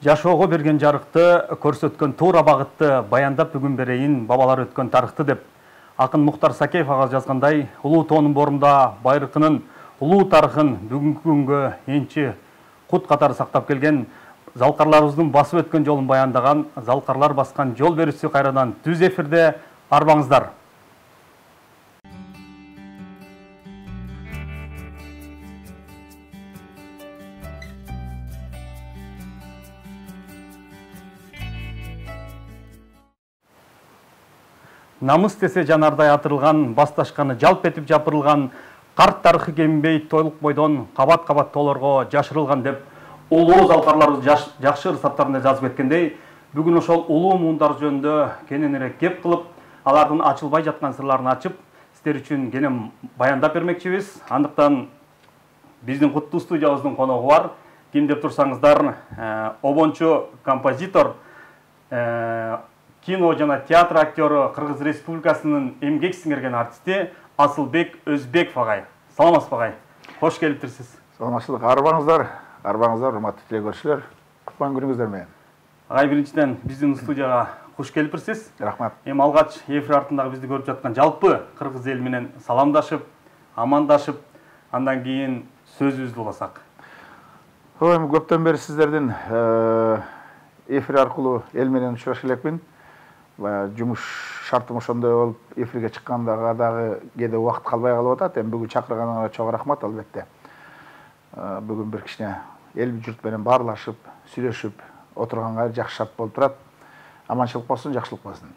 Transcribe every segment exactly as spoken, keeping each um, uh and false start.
Жашоого берген жарыкты, көрсөткөн туура багытты баяндап бүгүн берейин бабалар өткөн тарыхты деп. Акын Муктар Сакеев ага жазгандай, улуу тоонун борунда байракынын улуу тарыхын бүгүнкү күнгө энчи кут катары сактап келген, залкарларыбыздын басып өткөн жолун баяндаган Залкарлар баскан жол берүүсү кайрадан түз эфирде, арбаңыздар. Намыс десе жанардай атырылган, басташканы жалп этип жапырылган, карт тарыхы кеминбей тойлук бойдон кабат-кабат тоолорго жашырылган деп улуу залкарларыбыз жакшы ырсаттарында жазып кеткендей, бүгүн ошол улуу муундар жөнүндө кененирээк кеп кылып, алардын ачылбай жаткан сырларын ачып, сиздер үчүн кенен баяндап бермекчибиз. Андыктан биздин куттуу студиябыздын коногу бар. Ким деп турсаңыздар, обончу композитор, кино жана театр актёру, Кыргыз Республикасынын эмгек сиңирген артисти Асылбек Өзбеков агай. Саламатсызбы агай? Кош келиптирсиз. Саламатчылык, арбаңыздар, арбаңыздар, урматтуу телекөрүүчүлөр. Кутман күнүңүздөр менен. Агай, биринчиден биздин студияга кош келиптирсиз. Рахмат. Эми алгач эфир артындагы бизди көрүп жаткан жалпы кыргыз эл менен саламдашып, амандашып, андан кийин сөзүбүздү уласак. Ой, эми көптөн бери сиздердин эфир аркылуу эл менен учурашып элекмин. Жумуш шартым ошондой болуп, эфирге чыккандага дагы кээде убакыт калбай калып атат. Эми бүгүн чакырганыңарга чоң рахмат албетте. Бүгүн бир кичине эл журт менен баарлашып, сүйлөшүп отурганга жакшы шарт болуп турат. Аманчылык болсун, жакшылык болсун.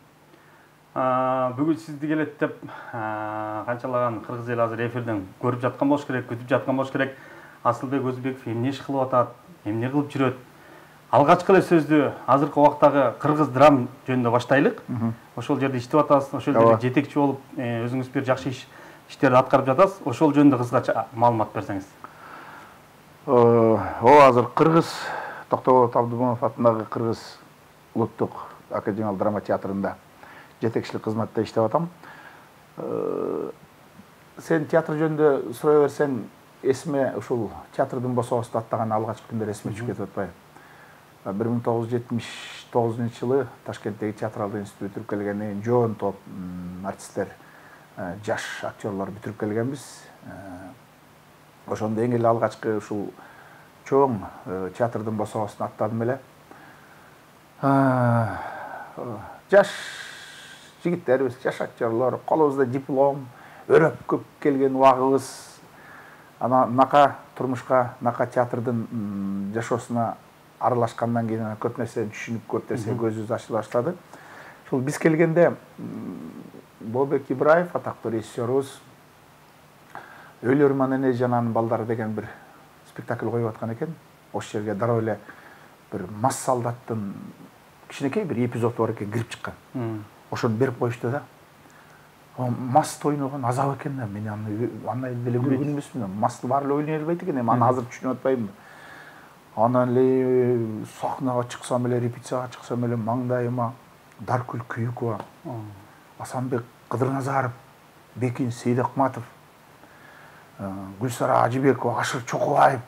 Бүгүн сизди келет деп канчалаган кыргыз эл азыр эфирден көрүп жаткан болуш керек, күтүп жаткан болуш керек. Асылбек Өзбеков эмне иш кылып атат, эмне кылып жүрөт? Алгачкы эле сөздү азыркы убактагы кыргыз драм жөнүндө баштайлык. Ошол жерде иштеп атасыз, ошол жерде жетекчи болуп, өзүңүз бир жакшы иштерди аткарып жатасыз. Ошол жөнүндө кыскача маалымат берсеңиз. О, азыр Кыргыз Токтоболот Абдымомунов атындагы Кыргыз улуттук академиялык драма театрында жетекчилик кызматта иштеп атам. Сен театр жөнүндө сурай берсең, эсиме ушул театрдын босоосу аттаган алгачкы күндөр эсиме түшүп кетип атпайбы? бир миң тогуз жүз жетимиш тогузунчу жылы Ташкенттеги театралдык институтты бүтүрүп келгенден кийин жоон топ артисттер, жаш актерлор бүтүрүп келгенбиз. Ошондон кийин эле алгачкы ушул чоң театрдын босоосун аттадым эле. Жаш жигиттербиз, жаш актерлор, колубузда диплом, өрөп көп келген убагыбыз. Ана нака турмушка, нака театрдын жашоосуна аралашкандан кийин көп нерсени түшүнүп, көп нерсе көзүбүз ачыла баштады. Ушул биз келгенде Болбек Ибраев, атактуу режиссерубуз, Өлөрман эне жананын балдары деген бир спектакль коюп аткан экен. Ошол жерге дароо эле бир мас солдаттын кичинекей бир эпизоду бар экен, кирип чыккан. Ошону берип коюшту да. Масты ойногон азап экен да. Мен аны андай деле көргөн эмесмин. Масты баары эле ойной албайт экен. Эми аны азыр түшүнүп атпайбын. Анан эле сахнага чыксам эле, репетицияга чыксам эле маңдайыма Даркүл Күйүкова, Асанбек Кыдырназаров, Бекин Сейдакматов, Гүлсара Ажыбекова, Ашыр Чокубаев,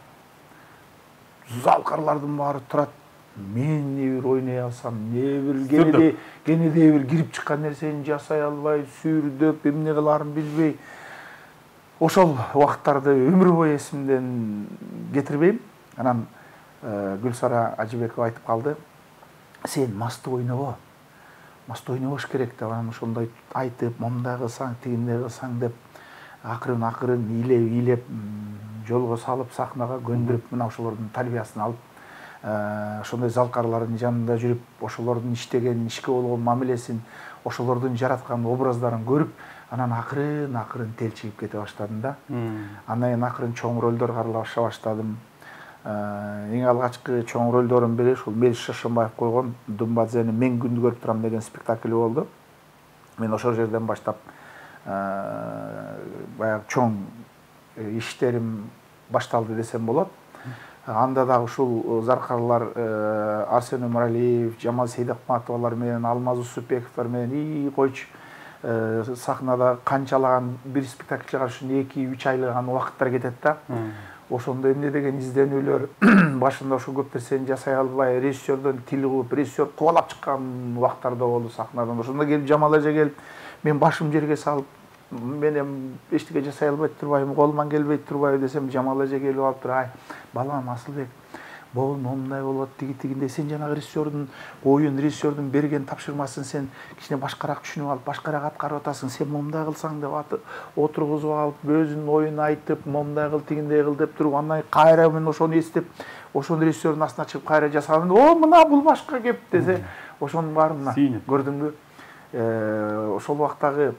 залкарлардын баары турат. Мен не бир ойной алсам, не бир кенеде кенеде бир кирип чыккан нерсени жасай албай, сүрдөп, эмне кылаарын билбей. Ошол убакыттарды өмүр бою эсимден кетирбейм. Анан Гүлсара Ажыбекова айтып калды: "Сен масты ойнобо. Масты ойнобош керек" деп. Анан ошондой айтып, "Момундай кылсаң, тигиндей кылсаң" деп акырын акырын илеп илеп жолго салып, сахнага көндүрүп, мына ошолордун тарбиясын алып, ошондой залкарлардын жанында жүрүп, ошолордун иштеген, ишке болгон мамилесин, ошолордун жараткан образдарын көрүп, анан акырын акырын телчигип кете баштадым да. Андан кийин акырын чоң ролдор каралаша баштадым. Эң алгачкы чоң ролдордун бири ушул Мелис Шашынбаев койгон Думбадзени мен күндү көрүп турам деген спектакль болду. Мен ошол жерден баштап баягы чоң иштерим башталды десем болот. Анда дагы ушул заркарлар Арсен Өмөралиев, Жамал Сейдакматовалар менен, Алмаз Усупбековдор менен и койчу сахнада канчалаган бир спектакль чыгарыш үчүн эки үч айлыган убакыттар кетет да. ошондо эмне деген изденүүлөр башында ошо көп нерсени жасай албай режиссердон тил кууп режиссер кубалап чыккан убактарда болду сахнадан. Ошондо келип Жамал эже келип мен башым жерге салып мен эми эчтеке жасай албай турбайбы, колуман келбей турбайбы десем, Жамал эже келип алып туруп, ай балам Асылбек, бул момундай болот, тиги тигинде, сен жанагы режиссердун оюн, режиссердун берген тапшырмасын сен кичине башкараак түшүнүп алып, башкараак аткарып атасың, сен момундай кылсаң деп отургузуп алып, өзүнүн оюн айтып, момундай кыл, тигиндей кыл деп туруп, андан кайра мен ошону эстеп, ошону режиссердун астына чыгып кайра жасаган, о мына бул башка кеп десе, ошонун баарын көрдүңбү? Ошол убактагы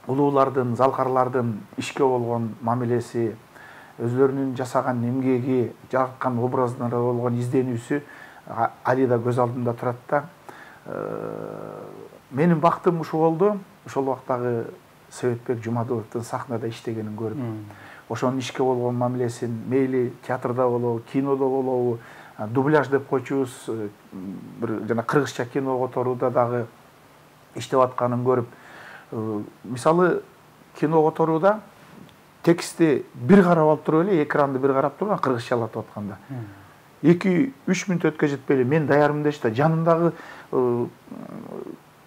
улуулардын, залкарлардын ишке болгон мамилеси, өзлөрүнүн жасаган эмгеги, жараткан образдарына болгон изденүүсү али да көз алдымда турат да. Менин бактым ушул болду, ошол убактагы Себетбек Жумадыловдун сахнада иштегенин көрүп, ошонун ишке болгон мамилесин, мейли театрда болобу, кинодо болобу, дубляж деп койчубуз, бир жана кыргызча кино которууда дагы иштеп атканын көрүп, мисалы кино которууда текстти бир карап алып туруп эле, экранды бир карап туруп, кыргызчалатып атканда эки үч мүнөт өткө жетпей эле мен даярмын дешти да, жанымдагы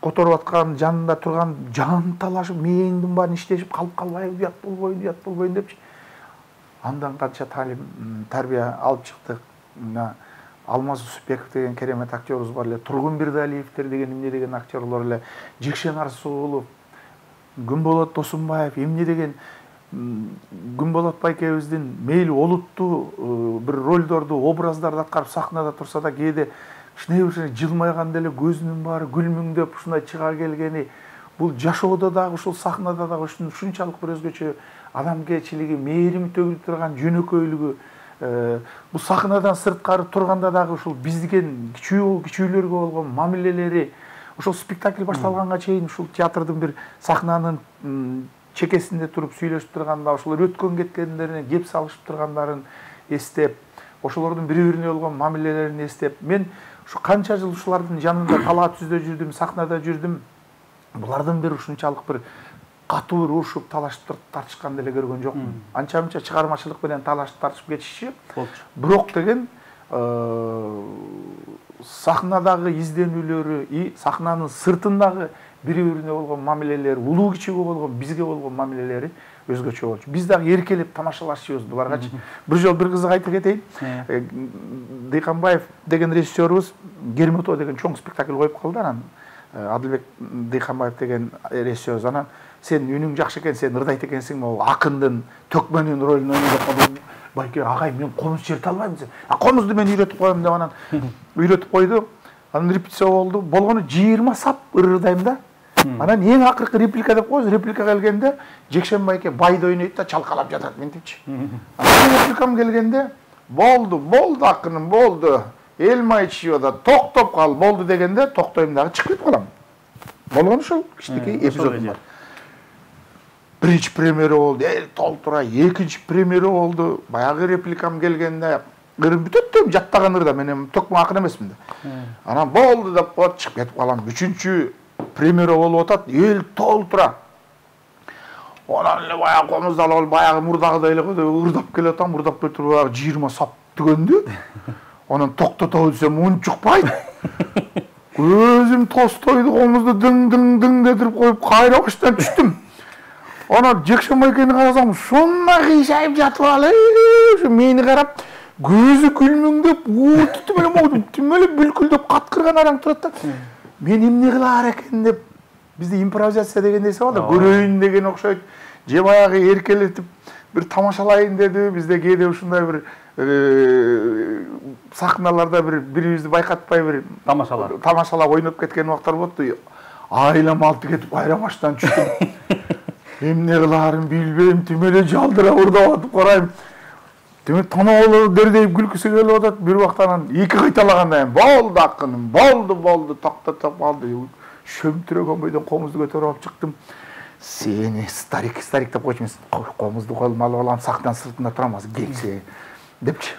которуп аткан, жанында турган жан талашып, мээңдин баарын иштешип, калып калбайбы, уят болбойбу, уят болбойбу депчи. Андан канча талим, тарбия алып чыктык. Мына Алмаз Усупбеков деген керемет актерибиз бар эле, Тургун Бирдалиевтер деген эмне деген актерлор эле, Жекшен Арсуулов, Күнболот Досунбаев, эмне деген Күнболот байкебиздин мейли олуттуу бир ролдорду, образдарды аткарып сахнада турса да, кээде кичине бир жылмайганда эле көзүнүн баары күлмүңдөп ушундай чыга келгени, бул жашоодо дагы ушул сахнада дагы ушунчалык бир өзгөчө адамгерчилиги, мээрими төгүлүп турган жөнөкөйлүгү, бул сахнадан сырткары турганда дагы ушул биздиген кичүү кичүүлөргө болгон мамилелери, ошол спектакль башталганга чейин ушул театрдын бир сахнанын чекесинде туруп сүйлөшүп турганда, ошолор өткөн кеткендерине кеп салышып тургандарын эстеп, ошолордун бири-бирине болгон мамилелерин эстеп, мен ушу канча жыл ушулардын жанында талаа түздө жүрдүм, сахнада жүрдүм. Булардын бир ушунчалык бир катуу бир урушуп, талашып тартышканды эле көргөн жокмун. Анча-мынча чыгармачылык менен талашып тартышып кетишчи. Бирок деген сахнадагы изденүүлөрү, сахнанын сыртындагы бири-бирине болгон мамилелери, улуу кичүүгө болгон, бизге болгон мамилелери өзгөчө болчу. Биз дагы эркелеп тамашалашчыбыз буларгачы. Бир жол бир кызык айтып кетейин. Дыйканбаев деген режиссерубуз Гермето деген чоң спектакль коюп калды. Анан Адылбек Дыйканбаев деген режиссер анан сен үнүң жакшы экен, сен ырдайт экенсиң, могу акындын төкмөнүн ролун ойноп калды. Байке, агай, мен комуз черте албайм десем, а комузду мен үйрөтүп коем деп анан үйрөтүп койду. Анан репетиция болду. Болгону жыйырма сап ырдайм да. Анан эң акыркы реплика деп коебуз. Реплика келгенде Жекшен байке байды ойнойт да чалкалап жатат ментипчи. Анан репликам келгенде болду, болду акыным, болду. Эл май чыйбада токтоп кал, болду дегенде токтойм дагы чыгып кетип калам. Болгону ошол кичинекей эпизод бар. Биринчи премьера болду, эл толтура, экинчи премьера болду. Баягы репликам келгенде ырым бүтөт деп жаттаган ырда, мен төкмө акын эмесмин да. Анан болду деп коет, чыгып кетип калам. Үчүнчү премьера болуп атат, эл толтура. Анан эле баягы комузду алып, баягы мурдагыдай эле ырдап келе атам, ырдап кетип баягы жыйырма сап түгөндү. Анан токтотобу десем унчукпайт. Өзүм Толстойду комузду дың-дың-дың детирип коюп кайра баштан түштүм. Анан Жекшен байкени карасам, ушундай кыйшайып жатып алып, ушу мени карап, көзү күлмүңдөп, ууту түм эле могу түм эле бүлкүлдөп каткырган араң турат да. Мен эмне кылаар экен деп, бизде импровизация деген нерсе бар да, көрөйүн деген окшойт. Же баягы эркелетип бир тамашалайын деди, бизде кээде ушундай бир сахналарда бир бирибизди байкатпай бир тамашалап тамашалап ойноп кеткен убактар болду. Айлам алты кетип кайра баштан түштүм. Эмне кылаарын билбейм, түм эле жалдырап ырдап атып карайм. Демек танабалы дердейип күлкүсү келип атат. Бир убактан эки кайталаганда болду акыным, болду, болду, токтотуп калды. Шөмтүрөгөн бойдон комузду көтөрүп алып чыктым. Сени старик, старик деп койчумун. Комузду колума алып алам, сахнадан сыртында турам, азыр келсе депчи.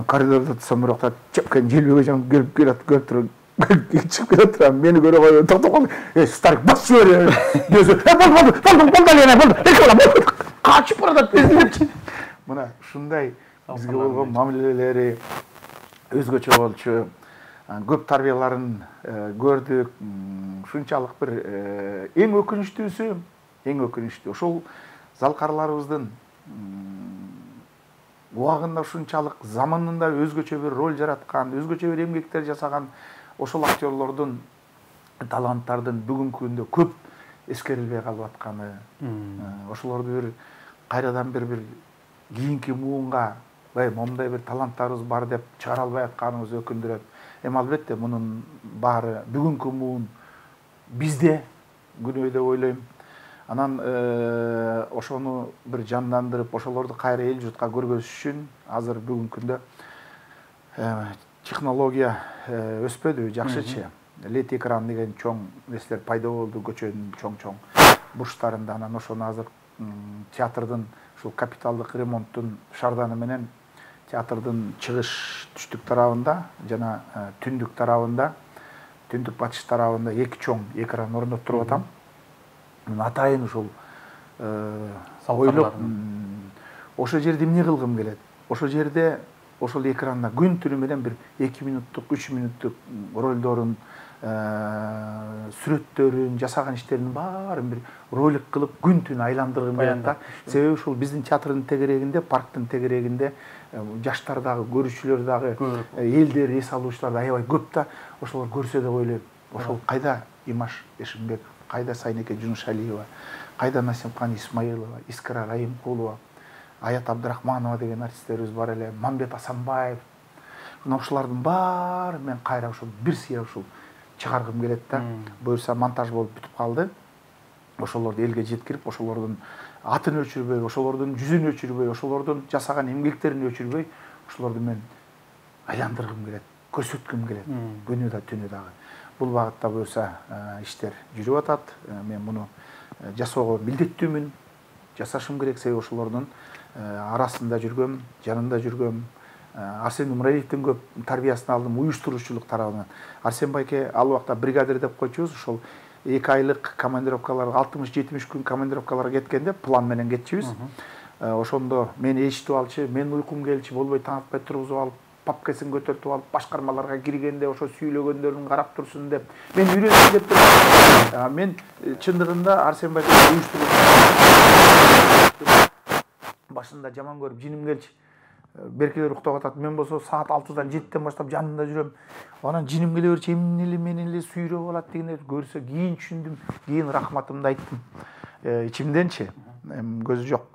Коридордо турсам, бирок чепкен желбеге жан келип келет, көрүп туруп чыгып келе турам, мени көрө койбой токтоп калды. Э, старик басып жибер. Десе, "Болду, болду, болду, болду эле, болду. Эки бала болду." Качып баратат депчи. мына ушундай бизге болгон мамилелери өзгөчө болчу. Көп тарбияларын көрдүк. Ушунчалык бир эң өкүнүчтүүсү, эң өкүнүчтүү ошол залкарларыбыздын убагында ушунчалык заманында өзгөчө бир роль жараткан, өзгөчө бир эмгектер жасаган ошол актерлордун, таланттардын бүгүнкү күндө көп эскерилбей калып атканы, ошолорду бир кайрадан бир бир кийинки муунга бай момундай бир таланттарыбыз бар деп чыгара албай атканыбыз өкүндүрөт. Эми албетте мунун баары бүгүнкү муун бизде күнөө деп ойлойм. Анан ошону бир жандандырып, ошолорду кайра эл журтка көргөзүш үчүн азыр бүгүнкү күндө технология өспөдү, жакшычы. Лед экран деген чоң нерселер пайда болду, көчөнүн чоң-чоң бурчтарында. Анан ошону азыр театрдын ушул капиталдык ремонттун шарданы менен театрдын чыгыш түштүк тарабында жана түндүк тарабында, түндүк батыш тарабында эки чоң экран орноттуруп атам. Атайын ушул ойлоп, ошол жерде эмне кылгым келет? Ошол жерде ошол экранда күн түнү менен бир эки минуттук, үч минуттук ролдорун, сүрөттөрүн, жасаган иштеринин баарын бир ролик кылып күн түнү айландыргым келет да. Себеби ушул биздин театрдын тегерегинде, парктын тегерегинде жаштар дагы, көрүүчүлөр дагы, элдер, эс алуучулар да аябай көп да. Ошолор көрсө деп ойлойм. Ошол кайда Имаш Эшимбек, кайда Сайнеке Жунушалиева, кайда Насимкан Исмаилова, Искра Райымкулова, Аят Абдрахманова деген артисттерибиз бар эле, Мамбет Асанбаев. Ошолордун баары мен кайра ушул бир сыя ушул чыгаргым келет да. Буюрса монтаж болуп бүтүп калды. Ошолорду элге жеткирип, ошолордун атын өчүрбөй, ошолордун жүзүн өчүрбөй, ошолордун жасаган эмгектерин өчүрбөй, ошолорду мен айландыргым келет, көрсөткүм келет, күнү да түнү дагы. Бул багытта буюрса иштер жүрүп атат. Мен муну жасоого милдеттүүмүн, жасашым керек, себеби ошолордун арасында жүргөм, жанында жүргөм. Арсен Нумраевдин көп тарбиясын алдым уюштуруучулук тарабынан. Арсен байке ал убакта бригадир деп койчубуз, ошол эки айлык командировкаларга, алтымыш жетимиш күн командировкаларга кеткенде план менен кетчүбүз. Ошондо мени эчитип алчы, мен уйкум келчү, болбой таң атпай тургузуп алып, папкасын көтөртүп алып, башкармаларга киргенде ошо сүйлөгөндөрүн карап турсун деп, мен үйрөнсүн деп турдум. Мен чындыгында Арсен байке уюштуруп башында жаман көрүп жиним келчи. Беркелер уктап атат, мен болсо саат алтыдан жетиден баштап жанында жүрөм. Анан жиним келе берчи, эмне эле мени эле сүйрөп алат дегенде көрсө кийин түшүндүм, кийин рахматымды айттым. Ичимденчи, көзү жок.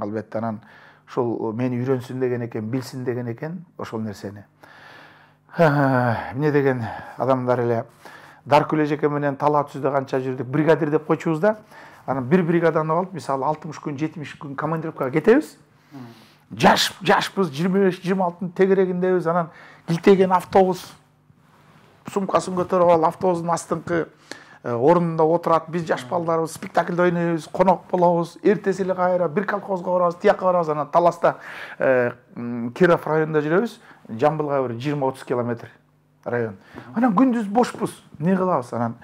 Албетте анан ошол мени үйрөнсүн деген экен, билсин деген экен ошол нерсени. Эмне деген адамдар эле Даркүл эжеке менен Талаат Сүздө канча жүрдүк, бригадир деп койчубуз да. Анан бир бригаданы алып, мисалы алтымыш күн, жетимиш күн командировкага кетебиз. Жаш, жашпыз, жыйырма беш, жыйырма алтынын тегерегиндебиз. Анан килтеген автобус, сумкасын көтөрүп алып, автобустун астыңкы орунунда отурат. Биз жаш балдарыбыз спектакльде ойнойбуз, конок болобуз. Эртеси эле кайра бир колхозго барабыз, тияка барабыз. Анан Таласта Киров районунда жүрөбүз. Жамбылга бир жыйырма отуз километр район. Анан күндүз бошпуз. Не кылабыз? Анан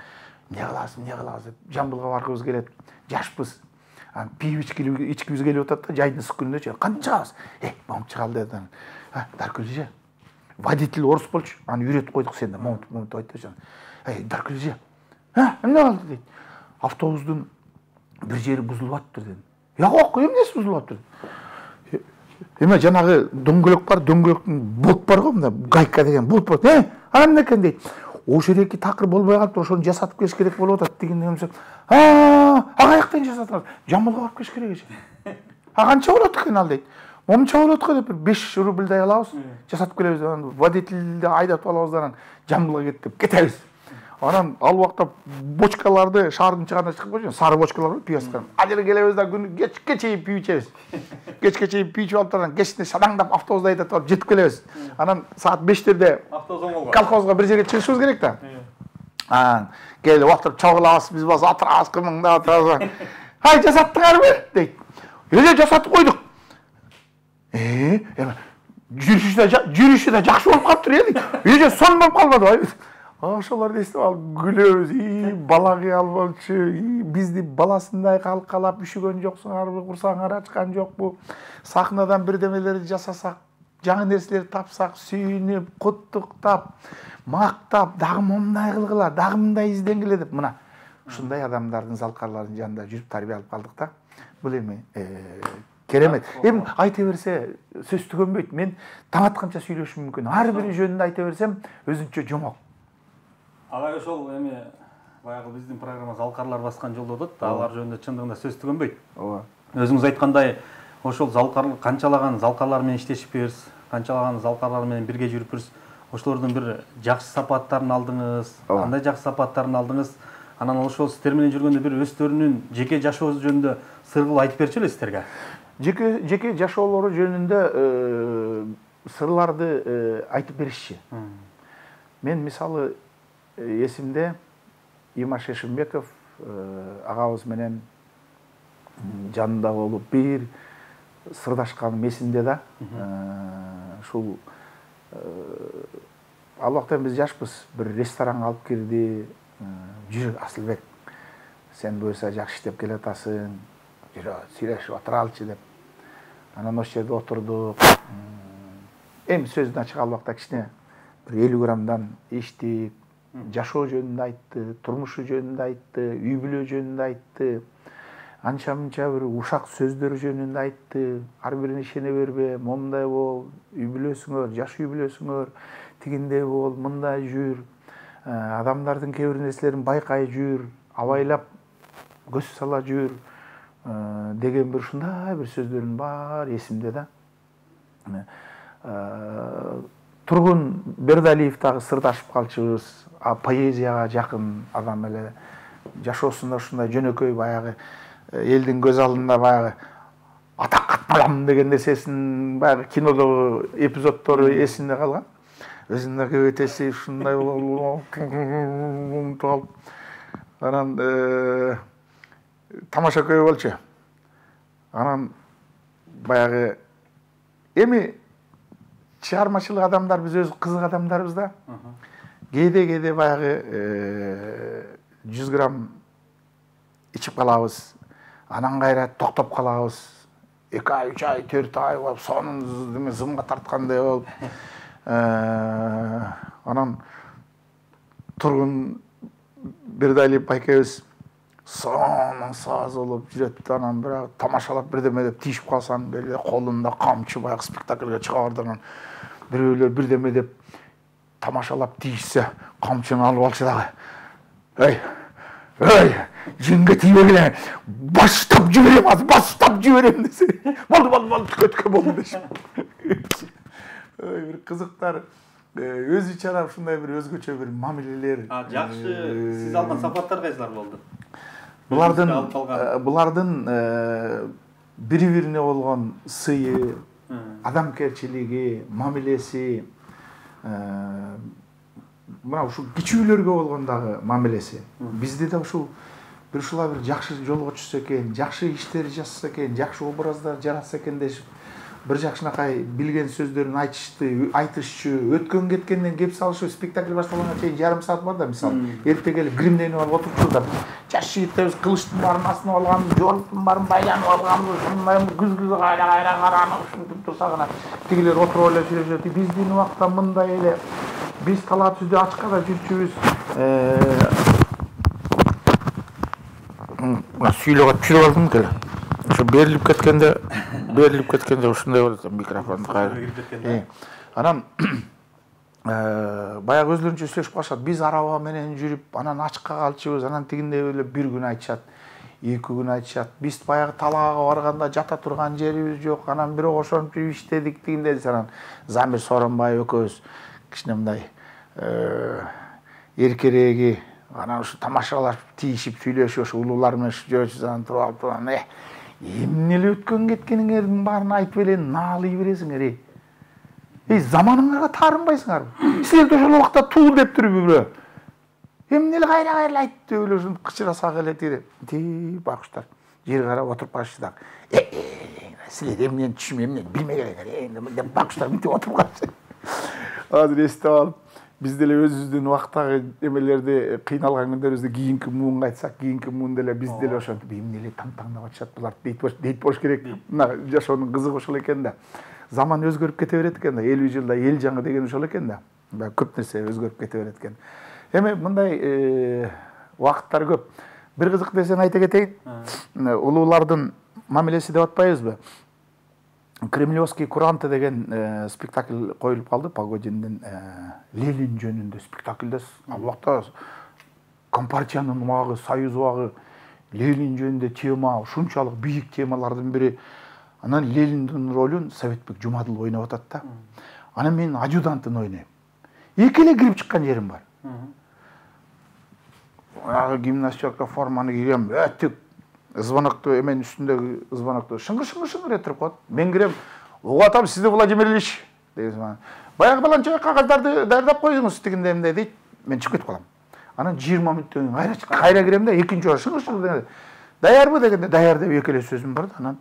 не кылабыз, не кылабыз деп Жамбылга баргыбыз келет. Жашпыз. Анан пип ичкибиз келип атат да, жайдын ысык күнүндө. Кантип чыгабыз? Э, момунт чыгалы деди. Даркүл эже, водитель орус болчу. Аны үйрөтүп койдук сен да, момунт момунт айтчы. Эй, Даркүл эже. Ха, эмне болду дейт. Автобустун бир жери бузулуп атыптыр дедим. Жок, эмнеси бузулуп атыптыр? Эме жанагы дөңгөлөк бар, дөңгөлөктүн болт бар го, мына гайка деген болт бар. Э, ана эмне экен дейт. Ошол эки такыр болбой калыптыр, ошону жасатып келиш керек болуп атат деген эмсе. А, каяктан жасатабыз? Жамбылга барып келиш керек эже. А канча болот экен ал дейт. Момунча болот го деп беш рубльдай алабыз, жасатып келебиз. Анан водительди айдатып алабыз, анан Жамбылга кет деп кетебиз. Анан ал убакта бочкаларды шаардын чыгаарына чыгып койчу, сары бочкалар бар, пивоскан. Ал жерге келебиз да күнү кечке чейин пиво ичебиз. Кечке чейин пиво ичип алып, анан кечинде шадаңдап автобузда айдатып алып жетип келебиз. Анан саат бештерде колхозго бир жерге чыгышыбыз керек да. Анан келип отуруп чогулабыз, биз болсо отурабыз, кымыңдап отурабыз. Ай, жасаттыңарбы дейт. Эле жасатып койдук. Э, эме жүрүшү да жүрүшү да жакшы болуп калыптыр э дейт. Эже сон болуп калбадыбы? ошолорду эстеп алып күлөбүз. И бала кыя албаучу, и бизди баласындай калкалап үшүгөн жоксуңарбы, курсаңар ачкан жокпу? Сахнадан бирдемелерди жасасак, жаңы нерселерди тапсак, сүйүнүп, куттуктап, мактап, дагы мындай кылгыла, дагы мындай изденгиле деп мына ушундай адамдардын залкарларынын жанында жүрүп тарбия алып калдык да. Бул эми керемет. Эми айта берсе сөз түгөнбөйт. Мен таң атканча сүйлөшүм мүмкүн. Ар бири жөнүндө айта берсем өзүнчө жомок. Алар ошол эми баягы биздин программа залкарлар баскан жолдо отот, алар жөнүндө чындыгында сөз түгөнбөйт. Ооба. Өзүңүз айткандай, ошол залкар канчалаган залкарлар менен иштешипбиз, канчалаган залкарлар менен бирге жүрүпбиз. Ошолордун бир жакшы сапаттарын алдыңыз, кандай жакшы сапаттарын алдыңыз? Анан ошол сиздер менен жүргөндө бир өздөрүнүн жеке жашоосу жөнүндө сыргыл айтып берчү эле сиздерге. Жеке жеке жашоолору жөнүндө сырларды айтып беришчи. Мен мисалы эсимде Имаш Эшимбеков агабыз менен жанында болуп бир сырдашканым эсимде да. Ушул ал убакта биз жашпыз, бир ресторанга алып кирди. Жүрү Асылбек, сен буюрса жакшы иштеп келатасың, жүрө сүйлөшүп отуралычы деп. Анан ошол жерде отурдук. Эми сөздүн ачык ал убакта кичине бир элүү граммдан иштик, жашоо жөнүндө айтты, турмушу жөнүндө айтты, үй бүлө жөнүндө айтты. Анча-мынча бир ушак сөздөр жөнүндө айтты. Ар бирине ишене бербе, момундай бол, үй бүлөсүңөр, жаш үй бүлөсүңөр, тигиндей бол, мындай жүр. Адамдардын кээ бир нерселерин байкай жүр, абайлап көз сала жүр деген бир ушундай бир сөздөрдүн баары эсимде да. Тургун Бердалиев дагы сырдашып калчубуз, поэзияга жакын адам эле. Жашоосунда ушундай жөнөкөй баягы элдин көз алдында баягы атак атмалам деген нерсесин баягы кинодогу эпизоддору эсинде калган. Өзүнө көбөтөсү ушундай болуп анан тамаша көбө болчу. Анан баягы эми чыгармачылык адамдар биз өз кызык адамдарбыз да. Кээде-кээде баягы жүз грамм ичип калабыз. Анан кайра токтоп калабыз. эки ай, үч ай, төрт ай болуп, сонун зымга тарткандай болуп. Анан Тургун Бердалиев байкебиз сонун саз болуп жүрөт. Анан бирок тамашалап бирдеме деп тийишип калсаң, беле колунда камчы баягы спектакльге чыга бардыган бирөөлөр бирдеме деп тамашалап тийишсе, камчыны алып алчу дагы. Эй, эй, жинге тийбегиле, баштап жиберем, азыр баштап жиберем десе. Болду, болду, болду, көткө болду дешип. Бир кызыктар, өзү чара ушундай бир өзгөчө бир мамилелер. Жакшы, сиз алган сапаттар кайсылар болду? Булардын булардын бири-бирине болгон сыйы, адамкерчилиги, мамилеси, мына ушул кичүүлөргө болгондагы мамилеси. Бизде да ушул бир ушула бир жакшы жолго түшсө экен, жакшы иштер жасаса экен, жакшы образдар жаратса экен дешип бир жакшынакай билген сөздөрүн айтышты, айтышчу, өткөн кеткенден кеп салышы, спектакль башталганга чейин жарым саат бар да, мисалы. Эрте келип гримденип алып отурчу да. Жаш жигиттерибиз кылычтын баарын астына алганбыз, жоруктун баарын байланып алганбыз, ушундай күз-күз кайра-кайра каранып ушинтип турсак анан тигилер отуруп эле сүйлөшөт. Биздин убакта мындай эле, биз талаа түздө ачкада жүрчүбүз. Сүйлөгө түшүрүп алдым келе. Ошо берилип кеткенде, берилип кеткенде ушундай болот микрофонду кайра. Анан баягы өзлөрүнчө сүйлөшүп калышат. Биз араба менен жүрүп, анан ачка калчубыз, анан тигиндей эле бир күн айтышат, эки күн айтышат. Биз баягы талаага барганда жата турган жерибиз жок, анан бирок ошентип иштедик тигиндей. Анан Замир Сооронбаев экөөбүз кичине мындай эркереги, анан ушу тамашалашып, тийишип, сүйлөшүп, ошо улуулар менен жүрөбүз, анан туруп алып турган. Эмне эле өткөн кеткениңердин баарын айтып эле наалый бересиңер, эй. Эй, заманыңарга таарынбайсыңарбы? Силерди ошол убакта туу деп туруп бирөө. Эмне эле кайра-кайра айтты эле ушинтип кычырасак эле тире. Ти бакыштар. Жер карап отуруп калышты дагы. Э, силер эмнени түшүнбөй, эмнени билмей келиңер, деп бакыштар мынтип отуруп калышты. Азыр эстеп алып, биз деле өзүбүздүн убактагы эмелерди кыйналган күндөрүбүздө кийинки муунга айтсак, кийинки муун деле биз деле ошентип эмне эле таң-таңдап атышат булар дейт болуш керек. Мына жашоонун кызыгы ошол экен да. Заман өзгөрүп кете берет экен да. элүү жылда эл жаңы деген ошол экен да. Баягы көп нерсе өзгөрүп кете берет экен. Эми мындай убакыттар көп. Бир кызык нерсени айта кетейин. Улуулардын мамилеси деп атпайбызбы? Кремлевский куранты деген спектакль коюлуп калды. Погодинин Ленин жөнүндө спектакль да. Ал убакта Компартиянын убагы, Союз убагы, Ленин жөнүндө тема, ушунчалык бийик темалардын бири. Анан Лениндин ролун Советбек Жумадыл ойноп атат да. Анан мен адъютантын ойнойм. Эки эле кирип чыккан жерим бар. Ага гимнастерка форманы кийгем, өтүк звонокту эменин үстүндөгү звонокту шыңгыр-шыңгыр-шыңгыр этирип коет. Мен кирем, угуп атам сизди Владимир Ильич деген. Баягы баланча кагаздарды даярдап коюңуз тигинде эмне дейт. Мен чыгып кетип калам. Анан жыйырма мүнөттөн кайра кайра кирем да, экинчи жолу шыңгыр-шыңгыр даярбы дегенде даяр деп эки эле сөзүм бар да. Анан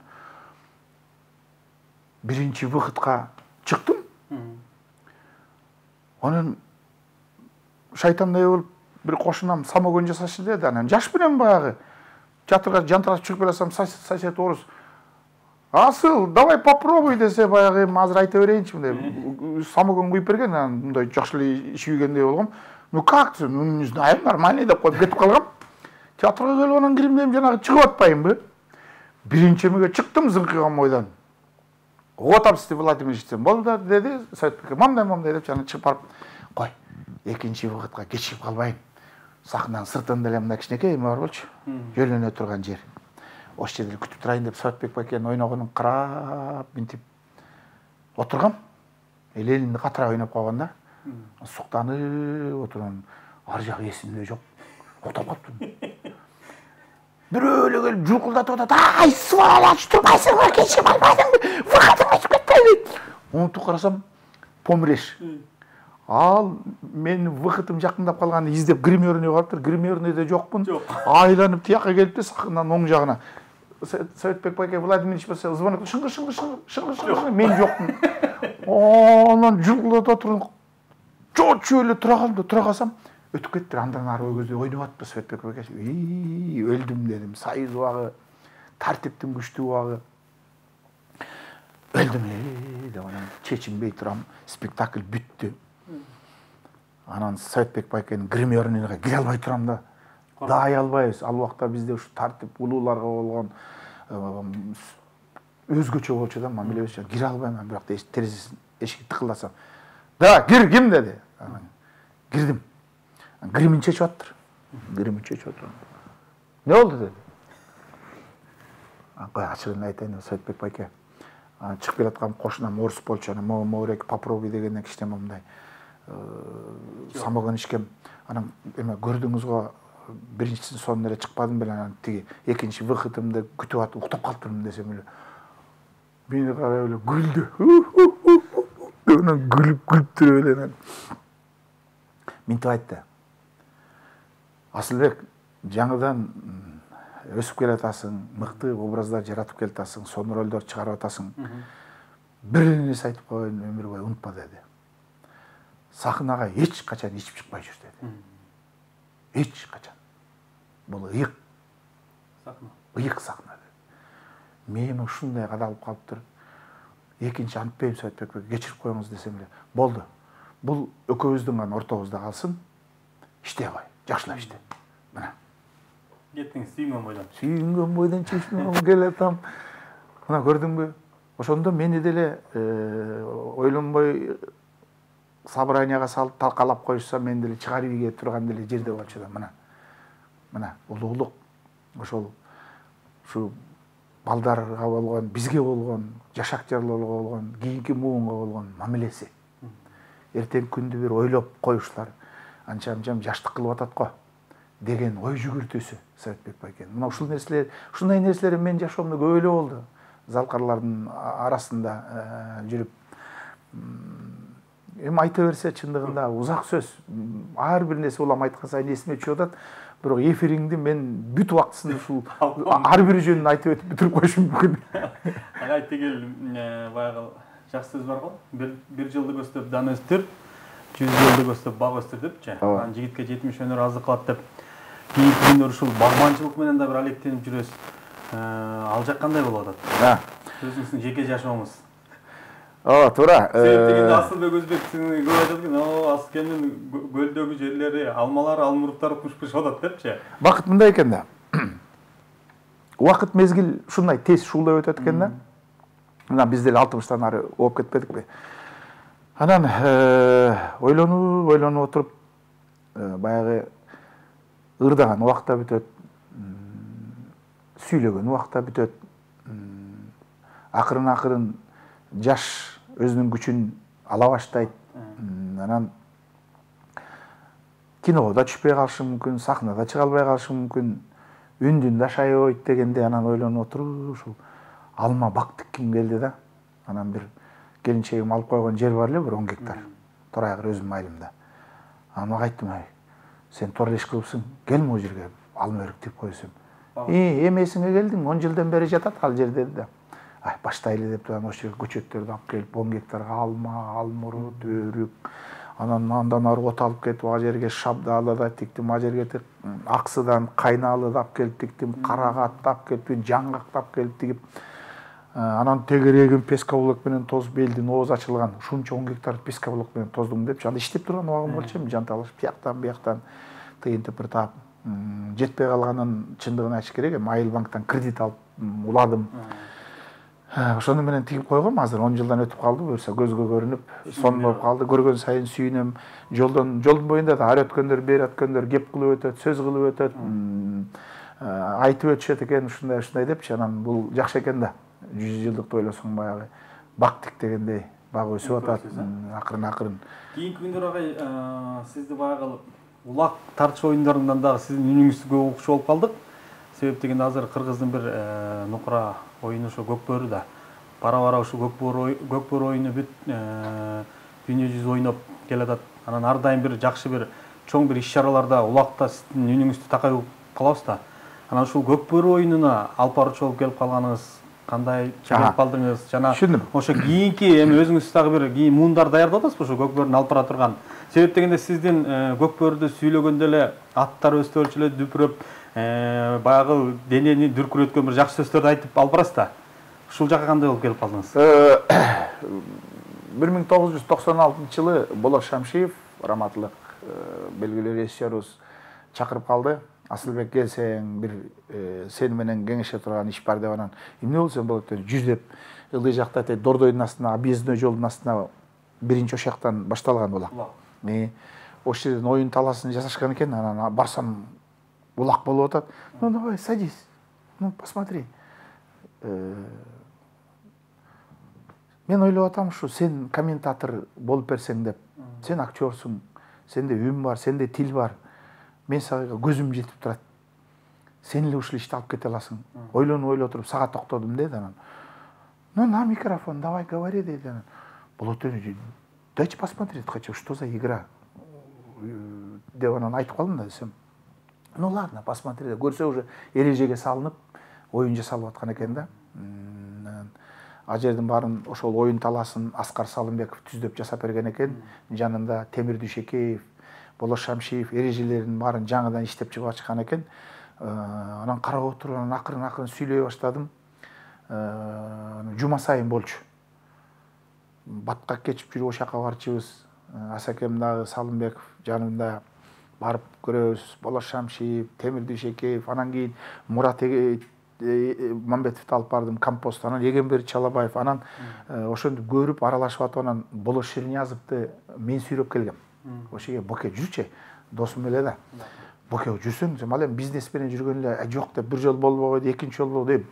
биринчи выходко чыктым. Анан шайтандай болуп бир кошунам самогон жасашы деди. Анан жаш менен баягы чатырга жантырашып чыгып келсем, сосед орус. Асыл, давай попробуй десе, баягы эми азыр айта берейинчи мындай самогон куюп берген, анан мындай жакшы эле ичибегендей болгом. Ну как? Ну не знаю, нормально деп коюп кетип калгам. Театрга келип анан кирим дем жанагы чыгып атпайынбы? Биринчи эмеге чыктым зыңкыган бойдон. Угуп атам сизди Владимир Ильич болду деди. Советбек мамдай мамдай деп жана чыгып барып, кой, экинчи выходко кечигип калбайын. Сахнанын сыртында эле мындай кичинекей эме бар болчу. Жөлөнө турган жер. Ошол жерде күтүп турайын деп Советбек байкенин ойногонун карап, мынтип отургам. Ленинди катыра ойноп койгон да. Суктанып отурган. Ар жак эсимде жок. Уктап калыптым. Бирөө эле келип жулкулдатып атат. Ай, сволочь, турбайсыңбы, кечип албайсыңбы? Выходуңа чыгып кетпейби? Унутуп карасам, помреш. Ал мен выходым жакындап калганды издеп гримерныйга барыптыр. Гримерныйда жокмун. Айланып тияка келип сахнадан оң жагына. Советбек байке Владимир Ильич болсо звонок шыңгыр шыңгыр шыңгыр шыңгыр мен жокмун. Анан жулкулдатып отурдум. Чочу эле тура калдым, тура калсам өтүп кеттир. Андан ары көздөй ойноп атты Советбек байке. И, өлдүм дедим. Союз убагы, тартиптин күчтүү убагы. Өлдүм эле деп анан чечинбей турам. Спектакль бүттү. Анан Советбек байкенин гримерныйга кире албай турам да. Дай албайбыз. Ал убакта бизде ушу тартип улууларга болгон өзгөчө болчу да, мамилебиз. Кире албайм, бирок терезесин эшикти тыкылдасам. Да, кир, ким деди. Анан кирдим. Гримин чечип аттыр. Гримин чечип аттыр. Не болду деди. Кой ачыгын айтайын деп Советбек байке. Анан чыгып келаткан кошунам орус болчу. Анан могорек попробуй дегенден кичине мындай самогон ичкем. Анан эме көрдүңүз го биринчисинин сонуна эле чыкпадым беле, анан тиги экинчи выходымды күтүп атып уктап калыптырмын десем эле. Мени карап эле күлдү. Анан күлүп күлүп туруп эле анан мынтип айтты. Асылбек, жаңыдан өсүп келатасың, мыкты образдар жаратып келатасың, сонун ролдор чыгарып атасың. Бир нерсе айтып коеюн, өмүр бою унутпа деди. Сахнага эч качан ичип чыкпай жүр деди. Эч качан. Бул ыйык. Сахна. Ыйык сахна деди. Мен ушундай кадалып калыптыр. Экинчи антпейм Советбек байке, кечирип коюңуз десем эле. Болду. Бул экөөбүздүн гана ортобузда калсын. Иштей кой, жакшылап иште. Мына. Кеттиңиз сүйүнгөн бойдон. Сүйүнгөн бойдон чечмем келатам. Мына көрдүңбү? Ошондо мени деле ойлонбой собранияга салып талкалап коюшса, мен деле чыгарып ийге турган деле жерде болчу да. Мына. Мына улуулук ошол ушу балдарга болгон, бизге болгон, жашактарларга болгон, кийинки муунга болгон мамилеси. Эртең күндү бир ойлоп коюшлар. Анча-анчам жаштык кылып атат го деген ой жүгүртүүсү Советбек байкенин. Мына ушул нерселер, ушундай нерселер мен жашоомдо көп эле болду. Залкарлардын арасында жүрүп эми айта берсе чындыгында узак сөз. Ар бир нерсе улам айткан сайын эсиме түшүп атат. Бирок эфириңди мен бүт убактысында ушул ар бир жөнүн айтып өтүп бүтүрүп коюшум мүмкүн. Ага тигил баягы жакшы сөз бар го. Бир жылды көздөп дан өстүр. жүз жылдык өстүп бак өстүр депчи. Анан жигитке жетимиш өнөр азык кылат деп кийинки күндөр ушул багманчылык менен да бир алектенип жүрөсүз. Ал жак кандай болуп атат? Өзүңүздүн жеке жашооңуз. Ооба, туура. Себеп дегенде Асылбек Өзбек сиңи көп айтат экен, "О, Аскемдин көлдөгү жерлери, алмалары, алмуруктары пуш-пуш атат" депчи. Бакыт мындай экен да. Убакыт мезгил ушундай тез шуулдап өтөт экен да. Мына биз деле алтымыштан ары ооп кетпедикпи? Анан ойлонуп, ойлонуп отуруп баягы ырдаган убакта бүтөт, сүйлөгөн убакта бүтөт. Акырын-акырын жаш өзүнүн күчүн ала баштайт. Анан киного да түшпөй калышы мүмкүн, сахнада чыга албай калышы мүмкүн, үндүн да шайыбайт дегенде анан ойлонуп отуруп ушул алма бак тикким келди да. Анан бир келинчегим алып койгон жер бар эле, бир он гектар. Торайгыр өзүмдүн айылымда. Анан ага айттым, ай, сен туура иш кылыпсың, кел могу жерге алма өрүк тип койсом. И, эмесиңе келдиң, он жылдан бери жатат ал жер деди да. Ай, баштайлы деп турган ошол жерге көчөттөрдү алып келип, он гектарга алма, алмурут, өрүк, анан андан ары от алып кетип, ал жерге шабдаалы да тиктим, ал жерге аксыдан кайнаалы да алып келип тиктим, карагатты алып келип, жаңгакты алып келип тигип, анан тегерегин пескоблок менен тозуп, элдин ооз ачылган, ушунча он гектар пескоблок менен тоздум депчи. Анда иштеп турган убагым болчу эми, жанталашып, тияктан бияктан тыйынтып бир таап жетпей калганын чындыгын айтыш керек, эми Айыл банктан кредит алып уладым. Ошону менен тигип койгом, азыр он жылдан өтүп калды, буюрса көзгө көрүнүп, сон болуп калды. Көргөн сайын сүйүнөм. Жолдон жолдун боюнда да ары өткөндөр, бери өткөндөр кеп кылып өтөт, сөз кылып өтөт, айтып өтүшөт экен, ушундай ушундай депчи. Анан бул жакшы экен да. жүз жылдыкты ойлосоң баягы бак тик дегендей бак өсүп атат, акырын-акырын. Кийинки күндөр агай сизди баягы улак тартыш оюндарынан дагы сиздин үнүңүздү көп укчу болуп калдык. Себеп дегенде азыр кыргыздын бир нукура оюну ошо Көкбөрү да. Бара-бара ошо Көкбөрү оюну бүт дүйнө жүзү ойноп келатат. Анан ар дайым бир жакшы бир чоң бир иш-чараларда улакта сиздин үнүңүздү такай угуп калабыз да. Анан ушул Көкбөрү оюнуна алып баруучу болуп келип калганыңыз кандай чыгып калдыңыз? Жана ошо кийинки эми өзүңүз дагы бир кийин муундар даярдап атасызбы ошо Көкбөрүнү алып бара турган? Себеп дегенде сиздин Көкбөрүдү сүйлөгөндө эле аттар өстөрчү эле дүпүрөп, баягы денени дүркүрөткөн бир жакшы сөздөрдү айтып алып барасыз да. Ушул жака кандай болуп келип калдыңыз? бир миң тогуз жүз токсон алтынчы жылы Болот Шамшиев, раматылык белгилүү режиссерубуз чакырып калды. Асылбек, келсең, бир сени менен кеңеше турган иш бар деп, анан эмне болсо болот деп жүздөп ылдый жакта тет Дордойдун астына, объездной жолдун астына биринчи ошактан башталган улак. Ошол жерден оюн таласын жасашкан экен, анан барсам улак болуп атат. Ну давай, садись. Ну посмотри. Мен ойлоп атам, ушу сен комментатор болуп берсең деп. Сен актёрсуң, сенде үн бар, сенде тил бар. Мен сага көзүм жетип турат. Сен эле ушул ишти алып кете аласың. Ойлонуп ойлоп туруп сага токтодум деди анан. Ну на микрофон, давай говори деди анан. Болот эне, дайте посмотреть хочу, что за игра. Деп анан айтып калдым да десем. Ну ладно, посмотри. Көрсө уже эрежеге салынып, оюн жасалып аткан экен да. Ал жердин баарын ошол оюн таласын Аскар Салымбеков түздөп жасап берген экен. Жанында Темир Дүйшекеев, Болот Шамшиев эрежелерин баарын жаңыдан иштеп чыгып ачкан экен. Анан карап отуруп, анан акырын-акырын сүйлөй баштадым. Жума сайын болчу. Батка кечип жүрүп ошака барчыбыз. Асакем дагы Салымбеков жанында барып көрөбүз. Болот Шамшиев, Темир Дүйшекеев, анан кийин Мурат Мамбетовду алып бардым, компост, анан Егембер Чалабаев, анан ошентип көрүп аралашып атып, анан Болот Шерниязовду мен сүйрөп келгем. Ошеге Боке жүрчү, досум эле да. Боке жүрсөң, ал эми бизнес менен жүргөн эле жок деп бир жол болбой койду, экинчи жол болду деп.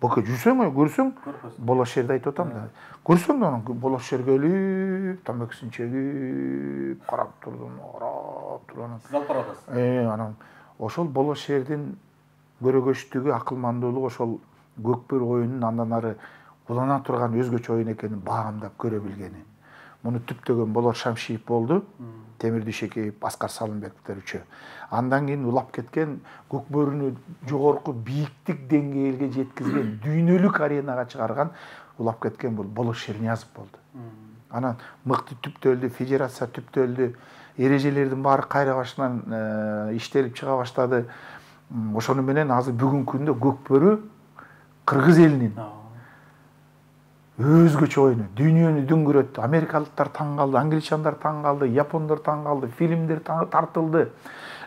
Боке жүрсөң, көрсөң, Болот Шерди айтып атам да. Көрсөң да анан Болот Шер келип, тамекисин чегип, карап турдум, карап турган. Сиз алып барасыз. Э, анан ошол Болот Шердин көрөгөчтүгү, акылмандуулугу ошол Көкбөрү оюнунун андан ары улана турган өзгөчө оюн экенин баамдап көрө билгени. Муну түптөгөн Болот Шамшиев болду, Темир Дүйшекеев, Аскар Салымбековдор үчөө. Андан кийин улап кеткен, Көкбөрүнү жогорку бийиктик деңгээлге жеткизген, дүйнөлүк аренага чыгарган, улап кеткен бул Болот Шерниязов болду. Анан мыкты түптөлдү, федерация түптөлдү, эрежелердин баары кайра башынан иштелип чыга баштады. Ошону менен азыр бүгүнкү күндө Көкбөрү кыргыз элинин өзгөчө оюну, дүйнөнү дүңгүрөттү. Америкалыктар таң калды, англичандар таң калды, япондор таң калды, фильмдер тартылды.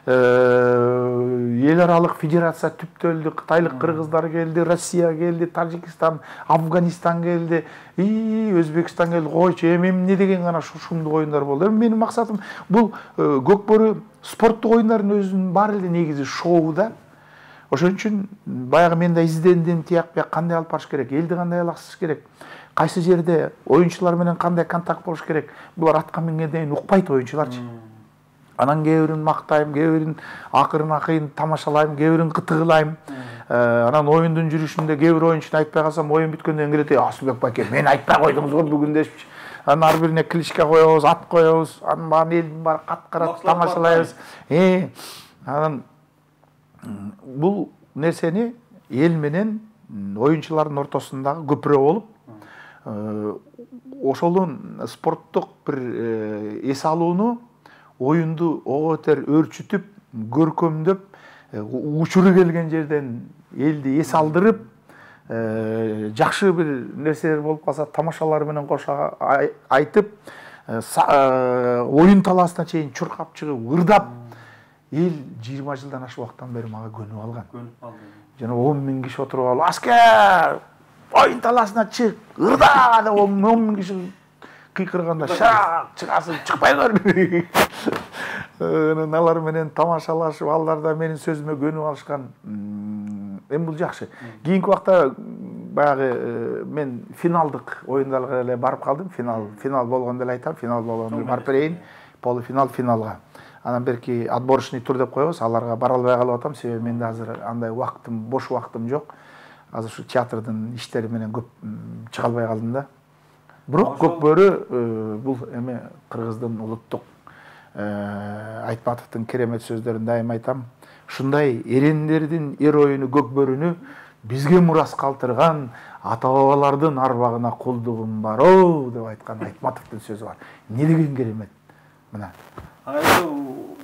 Эл аралык федерация түптөлдү, кытайлык кыргыздар келди, Россия келди, Тажикстан, Афганистан келди, и Өзбекстан келди. Койчу, эми эмне деген гана ушундук оюндар болду. Эми менин максатым бул Көкбөрү спорттук оюндардын өзүнүн баары эле негизи шоу да. Ошон үчүн баягы мен да издендим, тияк бияк кандай алып барыш керек, элди кандай алаксыш керек, кайсы жерде оюнчулар менен кандай контакт болуш керек. Булар атка мингенден укпайт оюнчуларчы. Анан кээ бирин мактайм, кээ бирин акырын акыйын тамашалайм, кээ бирин кытыгылайм. Анан оюндун жүрүшүндө кээ бир оюнчуну айтпай калсам, оюн бүткөндөн келет, Асылбек байке, мен айтпай койдуңуз го бүгүн дешчи. Анан ар бирине кличка коебуз, ат коебуз, анын баарын элдин баары кат-карат тамашалайбыз. Анан бул нерсени эл менен оюнчулардын ортосундагы көпүрө болуп, ошолун спорттук бир эс алууну, оюнду ого бетер өөрчүтүп, көркөмдөп, учуру келген жерден элди эс алдырып, жакшы бир нерселер болуп калса тамашалар менен кошо айтып, оюн талаасына чейин чуркап чыгып, ырдап, эл жыйырма жылдан ашык убакыттан бери мага көнүп алган. Көнүп алды. Жана он миң киши отуруп алып, аскер, оюн талаасына чык, ырда деп он миң киши кыйкырганда, шак чыгасың, чыкпайсыңар. Анан алар менен тамашалашып, алар да менин сөзүмө көнүп алышкан. Эми бул жакшы. Кийинки убакта баягы мен финалдык оюндарга эле барып калдым. Финал, финал болгондо эле айтам, финал болгондо эле барып берейин. Полуфинал, финалга. Анан берки отборочный тур деп коебуз, аларга бара албай калып атам, себеби менде азыр андай убактым, бош убактым жок. Азыр ушу театрдын иштери менен көп чыга албай калдым да. Бирок Көкбөрү бул эми кыргыздын улуттук Айтматовдун керемет сөздөрүн дайым айтам. Ушундай эрендердин эр оюну Көкбөрүнү бизге мурас калтырган ата-бабалардын арбагына кулдугум бар о деп айткан Айтматовдун сөзү бар. Не деген керемет. Мына.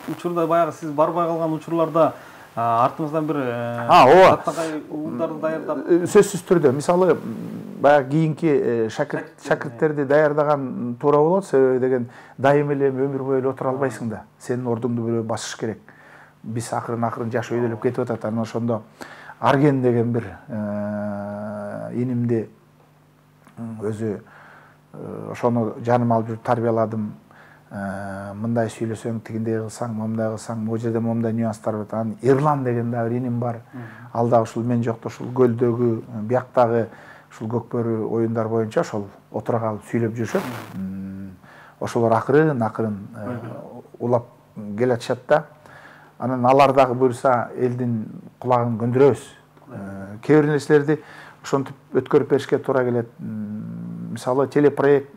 Учурда баягы сиз барбай калган учурларда артыңыздан бир татагай уулдарды даярдап, сөзсүз түрдө, мисалы баягы кийинки шакирттерди даярдаган туура болот, себеби деген дайым эле өмүр бою эле отура албайсың да. Сенин ордуңду бирөө басыш керек. Биз акырын-акырын жаш өйдөлүп кетип атат. Анан ошондо Арген деген бир инимди өзү ошону жаныма алып жүрүп тарбияладым. Мындай сүйлөсөң, тигиндей кылсаң, момундай кылсаң, могу жерде момундай нюанстар бар. Анан Эрлан деген да бир иним бар. Ал да ушул мен жокто ушул көлдөгү, бияктагы ушул Көкбөрү оюндар боюнча ошол отура калып сүйлөп жүрүшөт. Ошолор акырын-акырын улап келатышат да. Анан алар дагы буюрса элдин кулагын көндүрөбүз. Кээ бир нерселерди ошентип өткөрүп беришке туура келет. Мисалы телепроект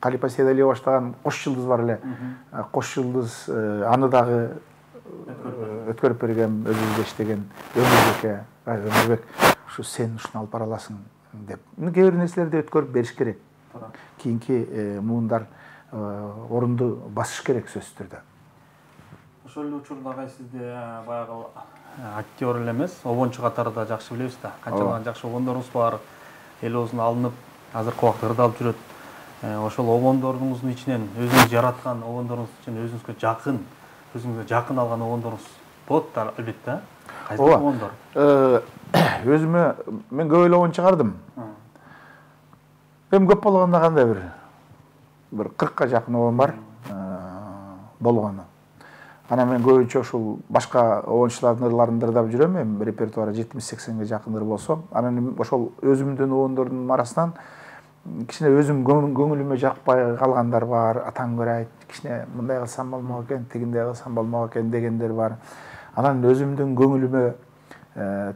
Калипа Сейдалиева баштаган Кош жылдыз бар эле. Кош жылдыз аны дагы өткөрүп берген, өзүбүз иштеген Өмүрбек, Өмүрбек, ушу сен ушуну алып бара аласың деп. Кээ бир нерселерди өткөрүп бериш керек. Кийинки муундар орунду басыш керек сөзсүз түрдө. Ошол эле учурда сизде баягы актер эле эмес, обончу катарында жакшы билебиз да. Канчалаган жакшы обондорубуз бар. Эл оозуна алынып, азыркы убакта ырдалып жүрөт. Ошол обондоруңуздун ичинен өзүңүз жараткан обондоруңуз үчүн өзүңүзгө жакын, өзүңүзгө жакын алган обондоруңуз болот да, албетте. Кайсы обондор? Өзүмө мен көп эле обон чыгардым. Эми көп болгондо кандай бир бир кыркка жакын обон бар болгону. Анан мен көбүнчө ушул башка обончулардын ырларын ырдап жүрөм. Эми репертуары жетимиш сексенге жакын ыр болсо, анан ошол өзүмдүн обондордун арасынан кичине өзүм көңүлүмө жакпай калгандар бар. Атаң көрөйт, кичине мындай кылсам болмок экен, тигиндей кылсам болмок экен дегендер бар. Анан өзүмдүн көңүлүмө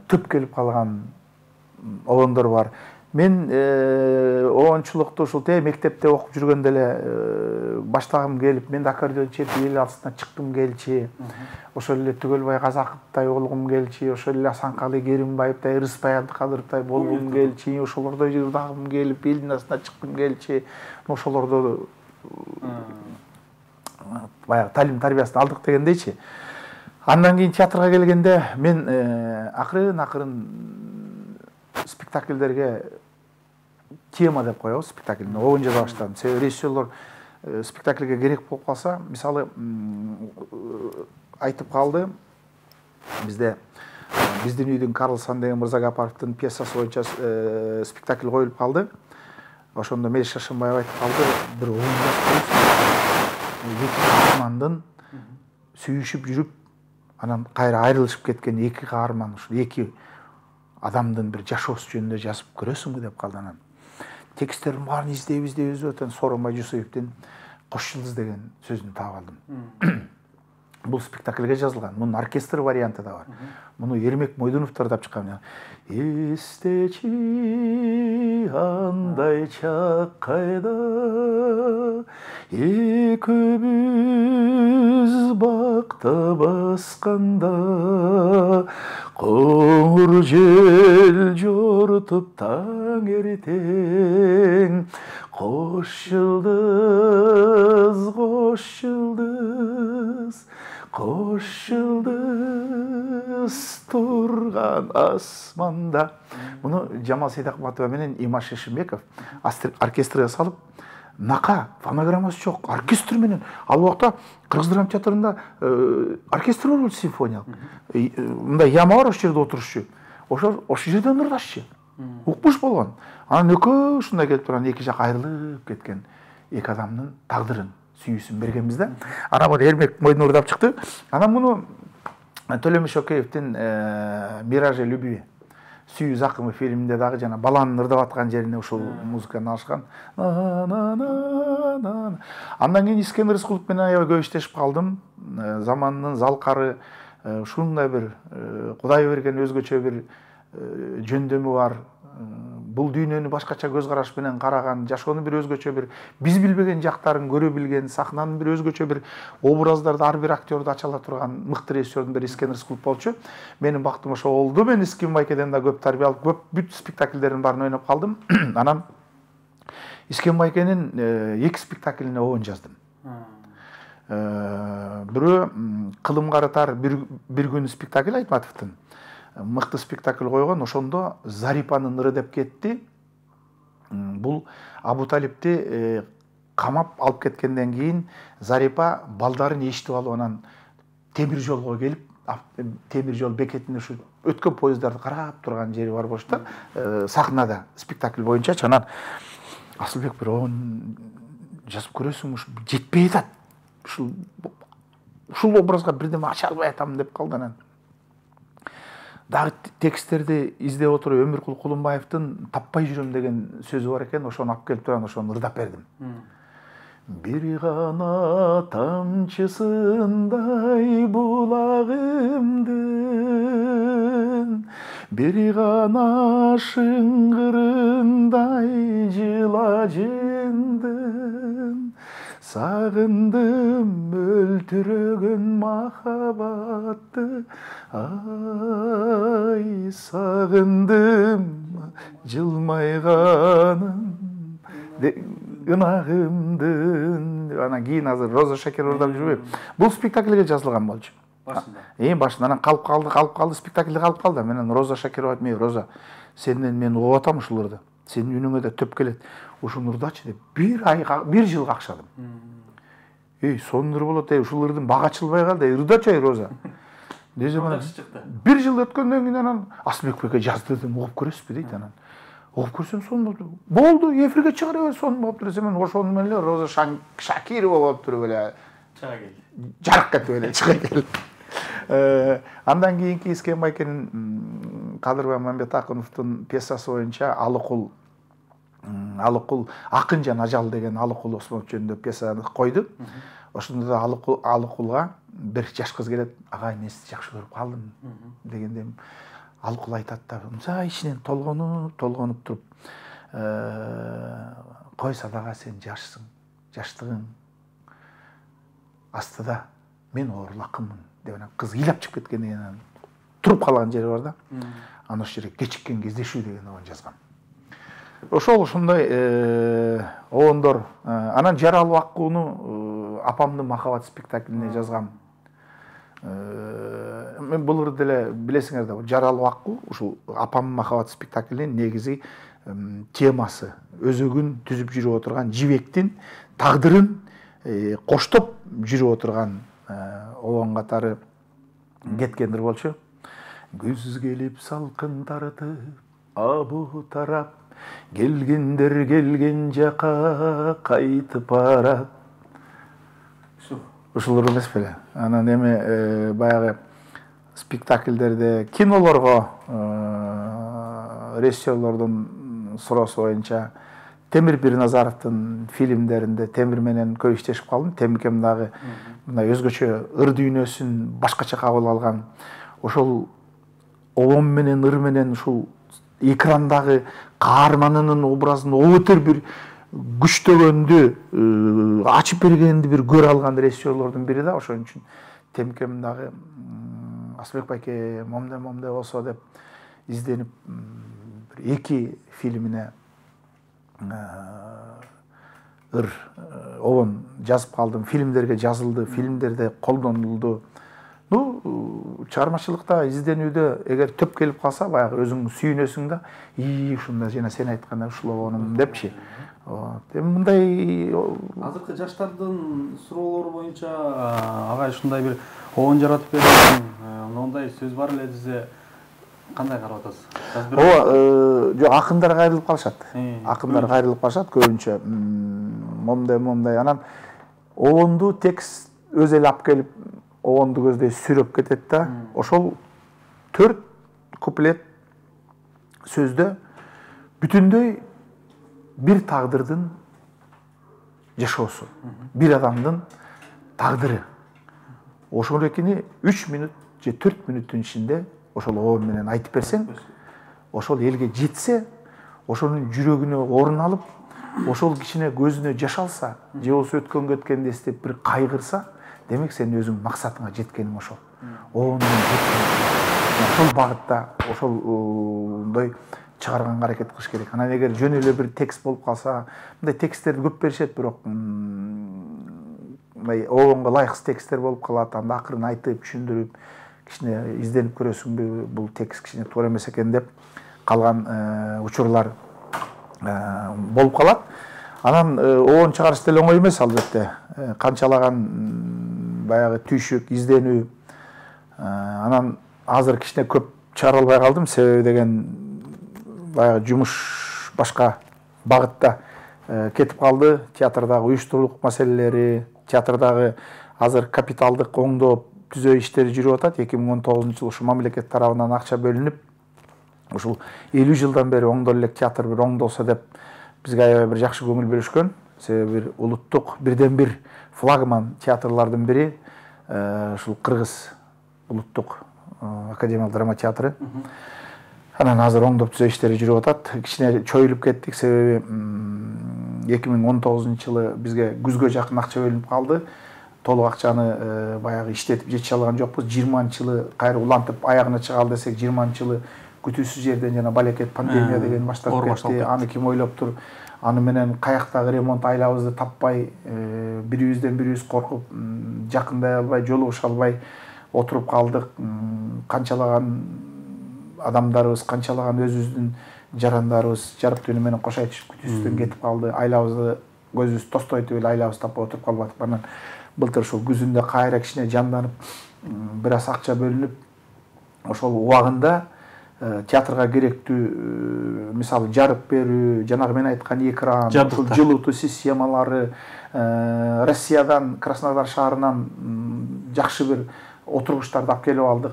түп келип калган обондор бар. Мен оончулукту ушул те мектепте окуп жүргөндө эле баштагым келип, мен да аккордеон чертип эл арасына чыккым келчи. Ошол эле Түгөлбай Казаковдой болгум келчи, ошол эле Асанкалы Керимбаевдей, Рыспай Абдыкадыровдой болгум келчи, ошолордой ырдагым келип, элдин арасына чыккым келчи. Ошолордо баягы талим тарбиясын алдык дегендейчи. Андан кийин театрга келгенде мен акырын-акырын спектакльдерге тема деп коебуз, спектакльни оюн жаза баштадым. Себеби режиссерлор спектакльге керек болуп калса, мисалы айтып калды, бизде биздин үйдүн Карлсон деген Мырза Гапаровдун пьесасы боюнча спектакль коюлуп калды. Ошондо Мелис Шашынбаев айтып калды, бир оюн жазып эки каармандын сүйүшүп жүрүп, анан кайра айрылышып кеткен эки каарман, ушул эки адамдын бир жашоосу жөнүндө жазып көрөсүңбү деп калды. Анан тексттердин баарын издеп издеп издеп өтөн Сооронбай Жусуевдин Кош жылдыз деген сөзүн таап алдым. Бул спектакльге жазылган. Мунун оркестр варианты да бар. Муну Ермек Мойдуновдор дап чыккан. Эстечи андай чак кайда, экөөбүз бакта басканда, коңур жел жортуп таң эртең, кош жылдыз, кош жылдыз, кош жылдыз турган асманда. Муну Жамал Сейдакматова менен Имаш Шешимбеков оркестрге салып, нака фонограммасы жок, оркестр менен. Ал убакта Кыргыз драма театрында оркестр болчу симфониялык. Мындай яма бар, ошол жерде отурушчу. Ошол ошол жерден ырдашчу. Укмуш болгон. Анан экөө ушундай келип турган эки жак айрылып кеткен эки адамдын тагдырын, сүйүүсүн бергенбиз да. Анан бул Ермек Мойдунов дап чыкты. Анан муну Төлөмүш Океевдин Миражи любви, Сүйүү Закымы фильминде дагы жана баланын ырдап аткан жерине ушул музыканы алышкан. Андан кийин Искен Рыскулов менен аябай көп иштешип калдым. Заманынын залкары, ушундай бир Кудай берген өзгөчө бир жөндөмү бар. Бул дүйнөнү башкача көз караш менен караган, жашоонун бир өзгөчө бир биз билбеген жактарын көрө билген, сахнанын бир өзгөчө бир образдарды ар бир актёрду ачала турган мыкты режиссердун бири Искен Рыскулов болчу. Менин бактым ошо болду. Мен Искен Байкеден да көп тарбия алып, көп бүт спектакльдердин баарын ойноп калдым. Анан Искен Байкенин эки спектаклине оюн жаздым. Бирөө Кылым карытар бир күн спектакль Айтматовдун. Мыкты спектакль койгон, ошондо Зарипанын ыры деп кетти. Бул Абу Талипти камап алып кеткенден кийин Зарипа балдарын эшитип алып, анан темир жолго келип, темир жол бекетине ушу өткөн поезддарды карап турган жери бар болчу да, сахнада спектакль боюнча. Анан Асылбек бир оюн жазып көрөсүң, ушу жетпей атат. Ушул ушул образга бирдеме ача албай атам деп калды. Анан дагы тексттерди издеп отуруп Өмүркул Кулумбаевдин Таппай жүрөм деген сөзү бар экен, ошону алып келип турган, ошону ырдап бердим. Бир гана тамчысындай булагымдын, бир гана шыңгырындай жылажындын, сагындым өлтүрөгөн махабатты, ай сагындым жылмайганын ынагымдын. Анан кийин азыр Роза Шакир ырдап жүрбөйм. Бул спектакльге жазылган болчу. Башында. Эң башында анан калып калды, калып калды, спектакль калып калды. Менен Роза Шакир айтып, "Мен Роза, сенден мен угуп атам ушуларды. Сенин үнүңө да төп келет. Ушуну ырдачы" деп бир айга, бир жыл какшадым. Эй, сонун ыр болот, эй, ушул ырдын бага ачылбай калды, эй, ырдачы ай Роза. Десем анан бир жыл өткөндөн кийин анан Асылбек Беке жазды дедим, угуп көрөсүзбү дейт. Анан угуп көрсөм сонун болду. Болду, эфирге чыгара бер, сонун болуптур десем, мен ошону менен эле Роза Шакирова болуп туруп эле чыга кел. Жарык кетип эле чыга кел. Андан кийинки Искен Байкенин Кадырбай Мамбетакуновдун пьесасы боюнча Алыкул Алыкул Акынжан Ажал деген Алыкул Осмонов жөнүндө пьесаны койду. Ошондо да Алыкулга бир жаш кыз келет, "Агай, мен сизди жакшы көрүп калдым" дегенде, алкул айтат да мынча ичинен толгонуп толгонуп туруп койса дагы сен жашсың, жаштыгың астыда мен оорулакмын деп анан кыз ыйлап чыгып кеткенден кийин анан туруп калган жери бар да. Анан ошол жерге кечиккен кездешүү деген обон жазгам. Ошол ушундай обондор. Анан жаралуу акууну апамдын махабат спектаклине жазгам. Мен булар деле билесиңер да, жаралуу акуу ушул апамдын махабат спектаклинин негизи темасы өзөгүн түзүп жүрүп отурган жибектин тагдырын коштоп жүрүп отурган обон катары кеткендир болчу. Күз келип салкын тартып, абу тарап, келгендер келген жака кайтып барат. Ушулар эмес беле? Анан эме баягы спектакльдерде, кинолорго режиссерлордун суроосу боюнча Темир Бирназаровдун фильмдеринде Темир менен көп иштешип калдым. Темиркем дагы мындай өзгөчө ыр дүйнөсүн башкача кабыл алган. Ошол обон менен ыр менен ушул экрандагы каарманынын образын өтөр бир күчтөгөндү, ачып бергенди бир көрө алган режиссерлордун бири да. Ошон үчүн Темкем дагы Асылбек байке момде момде болсо деп изденип эки фильмине ыр обон жазып калдым. Фильмдерге жазылды, фильмдерде колдонулду. Ну, чыгармачылыкта, изденүүдө эгер төп келип калса, баягы өзүң сүйүнөсүң да, ии ушунда жана сен айткандай ушул обонум депчи. Эми мындай азыркы жаштардын суроолору боюнча агай ушундай бир обон жаратып берген, мындай сөз бар эле десе кандай карап атасыз? Ооба, жок, акындар кайрылып калышат. Акындар кайрылып калышат көбүнчө. Момдай момдай анан обонду текст өзү эле алып келип обонду көздөй сүрөп кетет да. Ошол төрт куплет сөздө бүтүндөй бир тагдырдын жашоосу, бир адамдын тагдыры. Ошол экини үч мүнөт же төрт мүнөттүн ичинде ошол обон менен айтып берсең, ошол элге жетсе, ошонун жүрөгүнө орун алып, ошол кичине көзүнө жаш алса, же болбосо өткөнгө өткөндү эстеп бир кайгырса, демек сен өзүң максатыңа жеткениң ошол. Обондун ошол багытта, ошолдой чыгарганга аракет кылыш керек. Анан эгер жөн эле бир текст болуп калса, мындай тексттерди көп беришет, бирок мындай обонго ылайыксыз тексттер болуп калат. Анда акырын айтып, түшүндүрүп, кичине изденип көрөсүңбү, бул текст кичине туура эмес экен деп калган учурлар болуп калат. Анан обон чыгарыш деле оңой эмес албетте. Канчалаган баягы түйшүк, изденүү. Анан азыр кичине көп чыгара албай калдым, себеби деген баягы жумуш башка багытта кетип калды. Театрдагы уюштурулук маселелери, театрдагы азыр капиталдык оңдоп түзөө иштери жүрүп атат. эки миң он тогузунчу жылы ушу мамлекет тарабынан акча бөлүнүп, ушул элүү жылдан бери оңдоло элек театр бир оңдолсо деп бизге аябай бир жакшы көңүл бөлүшкөн. Себеби бир улуттук бирден бир флагман театрлардын бири ушул Кыргыз улуттук академиялык драма театры. Анан азыр оңдоп түзөө иштери жүрүп атат. Кичине чоюлуп кеттик, себеби эки миң он тогузунчу жылы бизге күзгө жакын акча бөлүнүп калды. Толук акчаны баягы иштетип жетише алган жокпуз. жыйырманчы жылы кайра улантып аягына чыгалы десек, жыйырманчы жылы күтүүсүз жерден жана балекет пандемия деген башталып кетти. Аны ким ойлоптур? Аны менен каяктагы ремонт айлабызды таппай, бирибизден бирибиз коркуп, жакындай албай, жолугуша албай отуруп калдык. Канчалаган адамдарыбыз, канчалаган өзүбүздүн жарандарыбыз жарык түнү менен кош айтышып күтүүсүздөн кетип калды. Айлабызды көзүбүз тостойтуп эле айлабызды таппай отуруп калбадык. Анан былтыр ушул күзүндө кайра кичине жанданып, бир аз акча бөлүнүп, ошол убагында театрга керектүү, мисалы жарык берүү, жанагы мен айткан экран, жылытуу системалары, Россиядан, Краснодар шаарынан жакшы бир отургучтарды алып келип алдык.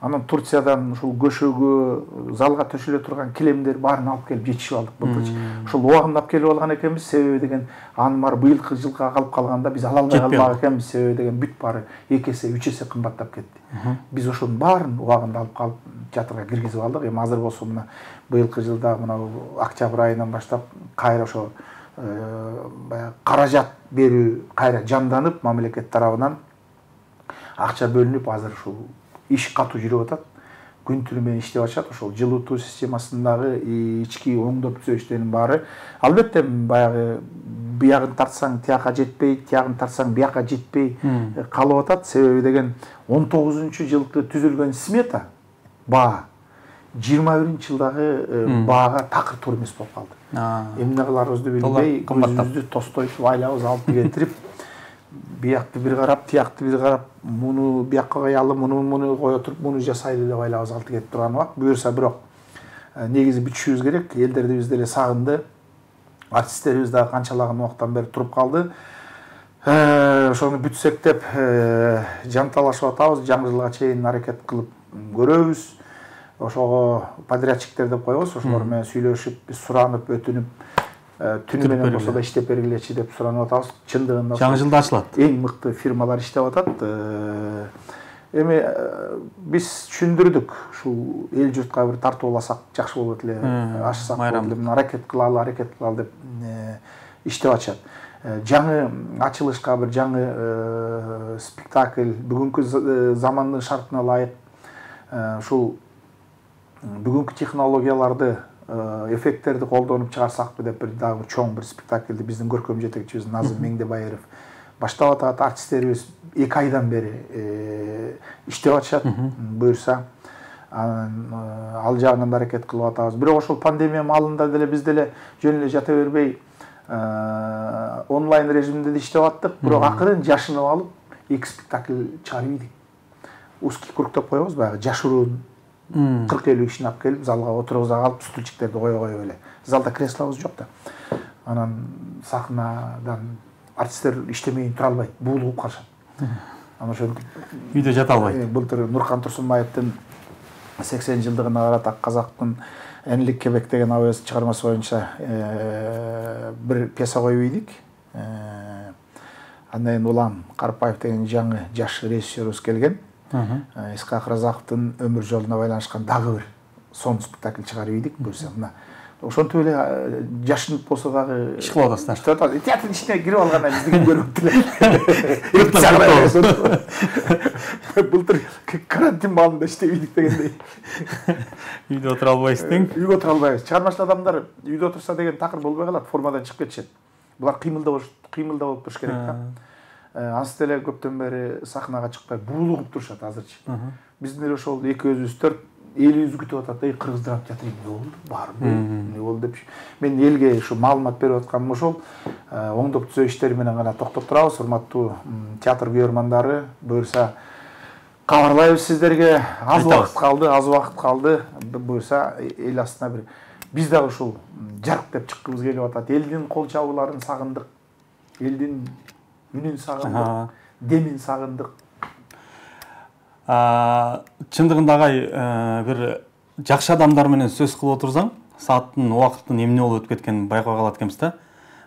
Анан Турциядан ушул көшөгө, залга төшөлө турган килемдер баарын алып келип жетишип алдык былтырчы. Ушул убагында алып келип алган экенбиз. Себеби деген анын баары быйылкы жылга калып калганда биз ала албай калбак экенбиз. Себеби деген бүт баары эки эсе, үч эсе кымбаттап кетти. Биз ошонун баарын убагында алып калып театрга киргизип алдык. Эми азыр болсо мына быйылкы жылда мына октябрь айынан баштап кайра ошо баягы каражат берүү кайра жанданып, мамлекет тарабынан акча бөлүнүп, азыр ушул иш катуу жүрүп атат. Күн түнү менен иштеп атышат. Ошол жылытуу системасындагы ички оңдоп түзөө иштеринин баары албетте баягы биягын тартсаң тияка жетпей, тиягын тартсаң бияка жетпей калып атат. Себеби деген он тогузунчу жылкы түзүлгөн смета баа жыйырма биринчи жылдагы баага такыр туура эмес болуп калды. Эмне кыларыбызды билбей, көзүбүздү тостойтуп, айлабыз алып кетирип, биякты бир карап, тиякты бир карап, муну биякка коелу, муну муну кое туруп, муну жасайлы деп айлабыз алты кетип турган убак. Буюрса бирок негизи бүтүшүбүз керек. Элдерибиз деле сагынды. Артисттерибиз дагы канчалаган убактан бери туруп калды. Ошону бүтсек деп жанталашып атабыз. Жаңы жылга чейин аракет кылып көрөбүз. Ошого подрядчиктер деп коебуз. Ошолор менен сүйлөшүп, биз суранып, өтүнүп, түнү менен болсо да иштеп бергилечи деп суранып атабыз. Чындыгында жаңы жылда ачылат. Эң мыкты фирмалар иштеп атат. Эми биз түшүндүрдүк, ушул эл журтка бир тартууласак жакшы болот эле, ашсак болот эле, аракет кылалы, аракет кылалы деп иштеп атышат. Жаңы ачылышка бир жаңы спектакль, бүгүнкү замандын шартына ылайык ушул бүгүнкү технологияларды, эффекттерди колдонуп чыгарсакпы деп бир дагы чоң бир спектакльди биздин көркөм жетекчибиз Назым Меңдебайыров баштап атат. Артисттерибиз эки айдан бери иштеп атышат. Буюрса ал жагынан да аракет кылып атабыз. Бирок ошол пандемия маалында деле биз деле жөн эле жата бербей онлайн режимде да иштеп аттык. Бирок акырын жашынып алып эки спектакль чыгарып ийдик. Узкий круг деп коебуз, баягы жашыруун кырк элүү кишини алып келип залга отургуза калып, стульчиктерди кое коюп эле. Залда креслобуз жок да. Анан сахнадан артисттер иштемейин тура албайт, буулугуп калышат. Анан ошентип үйдө жата албайт. Былтыр Нуркан Турсунбаевдин сексен жылдыгына карата казактын Энелик Кебек деген абыз чыгармасы боюнча бир пьеса коюп ийдик. Андан кийин Улан Карпаев деген жаңы жаш режиссерибиз келген. Исхак Разаковдун өмүр жолуна байланышкан дагы бир сон спектакль чыгарып ийдик. Буюрса мына ошентип эле жашынып болсо дагы иш кылып атасыздар. Иштеп атабыз. Театрдын ичине кирип алгандан биздики көрүп эле. Былтыр карантин маалында иштеп ийдик дегендей. Үйдө отура албайсыз тең. Үйгө отура албайбыз. Чыгармачыл адамдар үйдө отурса деген такыр болбой калат, формадан чыгып кетишет. Булар кыймылда болуш, кыймылда болуп туруш керек да. Ансы деле көптөн бери сахнага чыкпай буулугуп турушат азырчы. Биздин эле ошол экөөбүз төрт элибиз күтүп атат. Эй, Кыргыз драма театры эмне болду? Барбы? Эмне болду деп. Мен элге ушу маалымат берип атканым ошол. Оңдоп түзөө иштери менен гана токтоп турабыз. Урматтуу театр көрөрмандары, буюрса кабарлайбыз сиздерге. Аз убакыт калды, аз убакыт калды. Буюрса эл астына бир биз дагы ушул жарк деп чыккыбыз келип атат. Элдин кол чабууларын сагындык. Элдин үнүн сагындык, демин сагындык. Чындыгында агай бир жакшы адамдар менен сөз кылып отурсаң, сааттын, убакыттын эмне болуп өтүп кеткенин байкай калат экенбиз да.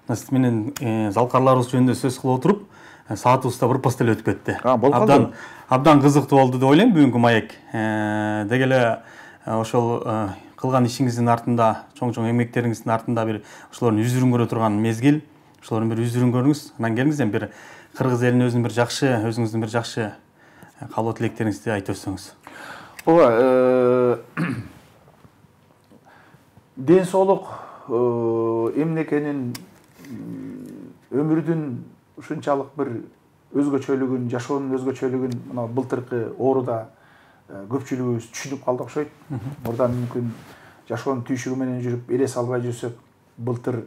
Сиз менен залкарларыбыз жөнүндө сөз кылып отуруп, саатыбыз да бир пастел өтүп кетти. Абдан абдан кызыктуу болду деп ойлойм бүгүнкү маек. Деги эле ошол кылган ишиңиздин артында, чоң-чоң эмгектериңиздин артында бир ошолордун үзүрүн көрө турган мезгил, ошолордун бир үзүрүн көрүңүз. Анан келиңиз эми бир кыргыз элине өзүнүн бир жакшы, өзүңүздүн бир жакшы каалоо тилектериңизди айтып өтсөңүз. Ооба, ден соолук эмне экенин, өмүрдүн ушунчалык бир өзгөчөлүгүн, жашоонун өзгөчөлүгүн мына былтыркы ооруда көпчүлүгүбүз түшүнүп калды окшойт. Мурдан мүмкүн жашоонун түйшүгү менен жүрүп элес албай жүрсөк, былтыр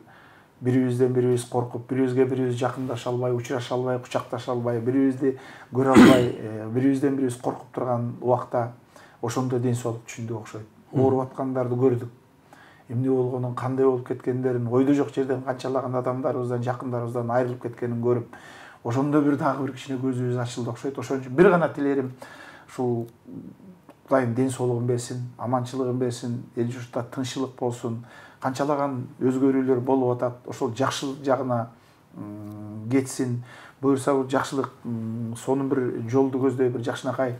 бирибизден бирибиз коркуп, бирибизге бирибиз жакындаша албай, учураша албай, кучакташа албай, бирибизди көрө албай, бирибизден бирибиз коркуп турган убакта ошондо ден соолук түшүндүк окшойт. Ооруп аткандарды көрдүк. Эмне болгонун, кандай болуп кеткендерин, ойдо жок жерден канчалаган адамдарыбыздан, жакындарыбыздан айрылып кеткенин көрүп, ошондо бир дагы бир кичине көзүбүз ачылды окшойт. Ошон үчүн бир гана тилерим ушул Кудайым ден соолугун берсин, аманчылыгын берсин, эл журтта тынччылык болсун. Канчалаган өзгөрүүлөр болуп атат, ошол жакшы жагына кетсин. Буюрса бул жакшылык сонун бир жолду көздөй, бир жакшынакай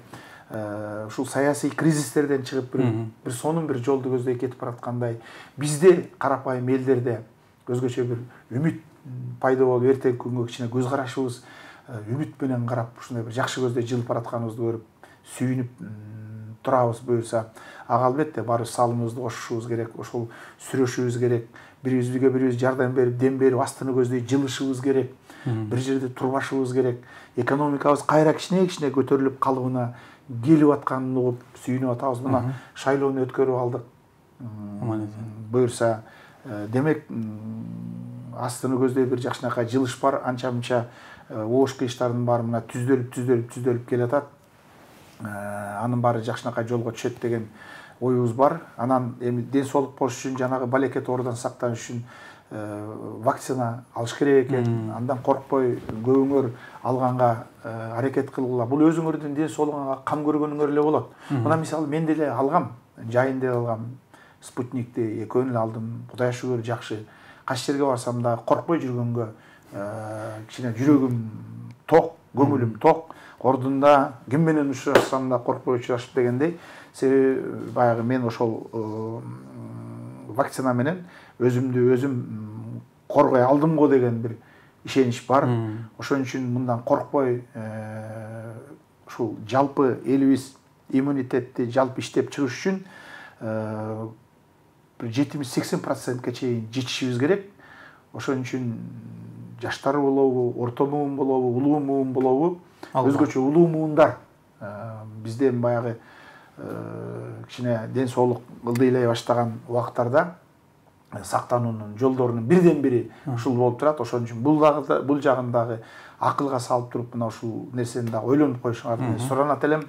ушул саясий кризистерден чыгып бир бир сонун бир жолду көздөй кетип бараткандай, бизде карапайым элдерде өзгөчө бир үмүт пайда болуп, эртеңки күнгө кичине көз карашыбыз үмүт менен карап, ушундай бир жакшы көздөй жылып баратканыбызды көрүп, сүйүнүп турабыз. Буюрса, ага албетте баарыбыз салымыбызды кошушубуз керек, ошол сүрөшүбүз керек, бирибизге бирибиз жардам берип, дем берип, астыны көздөй жылышыбыз керек, бир жерде турбашыбыз керек, экономикабыз кайра кичине-кичине көтөрүлүп калыбына келип атканын угуп сүйүнүп атабыз. Мына шайлоону өткөрүп алдык. Буюрса, демек астыны көздөй бир жакшынакай жылыш бар, анча-мынча оош кыйыштардын баары мына түздөлүп, түздөлүп, түздөлүп келатат. Анын баары жакшынакай жолго түшөт деген оюбуз бар. Анан эми ден соолук болуш үчүн, жанагы балекет оорудан сактаныш үчүн вакцина алыш керек экен. Андан коркпой көбүңөр алганга аракет кылгыла. Бул өзүңөрдүн ден соолугуңарга кам көргөнүңөр эле болот. Мына мисалы мен деле алгам, жайын деле алгам, спутникти экөөнү эле алдым. Кудайга шүгүр жакшы. Кайсы жерге барсам да коркпой жүргөнгө кичине жүрөгүм ток, көңүлүм ток. Ордунда ким менен учурашсам да коркпой учурашып дегендей. Себеби баягы мен ошол вакцина менен өзүмдү өзүм коргой алдым го деген бир ишенич бар. Ошон үчүн мындан коркпой ушул жалпы элибиз иммунитетти жалпы иштеп чыгыш үчүн бир жетимиш сексен процентке чейин жетишибиз керек. Ошон үчүн жаштар болобу, орто муун болобу, улуу муун болобу, өзгөчө улуу муундар бизде баягы кичине ден соолук ылдыйлай баштаган убактарда сактануунун жолдорунун бирден бири ушул болуп турат. Ошон үчүн бул дагы бул жагын дагы акылга салып туруп, мына ушул нерсени дагы ойлонуп коюшуңарды суранат элем.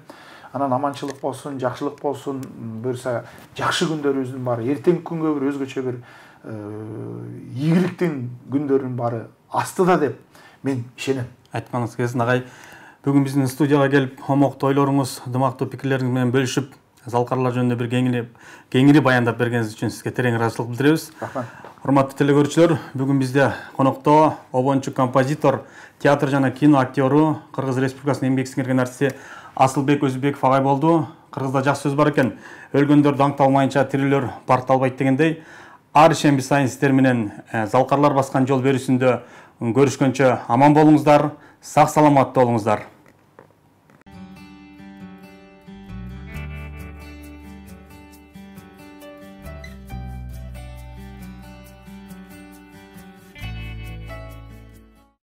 Анан аманчылык болсун, жакшылык болсун, буюрса жакшы күндөрүбүздүн баары, эртеңки күнгө бир өзгөчө бир ийгиликтин күндөрүнүн баары астыда деп мен ишенем. Айтканыңыз келсин агай. Бүгүн биздин студияга келип, омоктуу ойлоруңуз, дымактуу пикирлериңиз менен бөлүшүп, залкарлар жөнүндө бир кеңири кеңири баяндап бергениңиз үчүн сизге терең ыраазычылык билдиребиз. Рахмат. Урматтуу телекөрүүчүлөр, бүгүн бизде конокто обончу композитор, театр жана кино актёру, Кыргыз Республикасынын эмгек сиңирген артисти Асылбек Өзүбеков агай болду. Кыргызда жакшы сөз бар экен. Өлгөндөр даңкталмайынча тирилөр паркталбайт дегендей, ар шемби сайын сиздер менен залкарлар баскан жол берүүсүндө көрүшкөнчө аман болуңуздар, сак саламатта болуңуздар.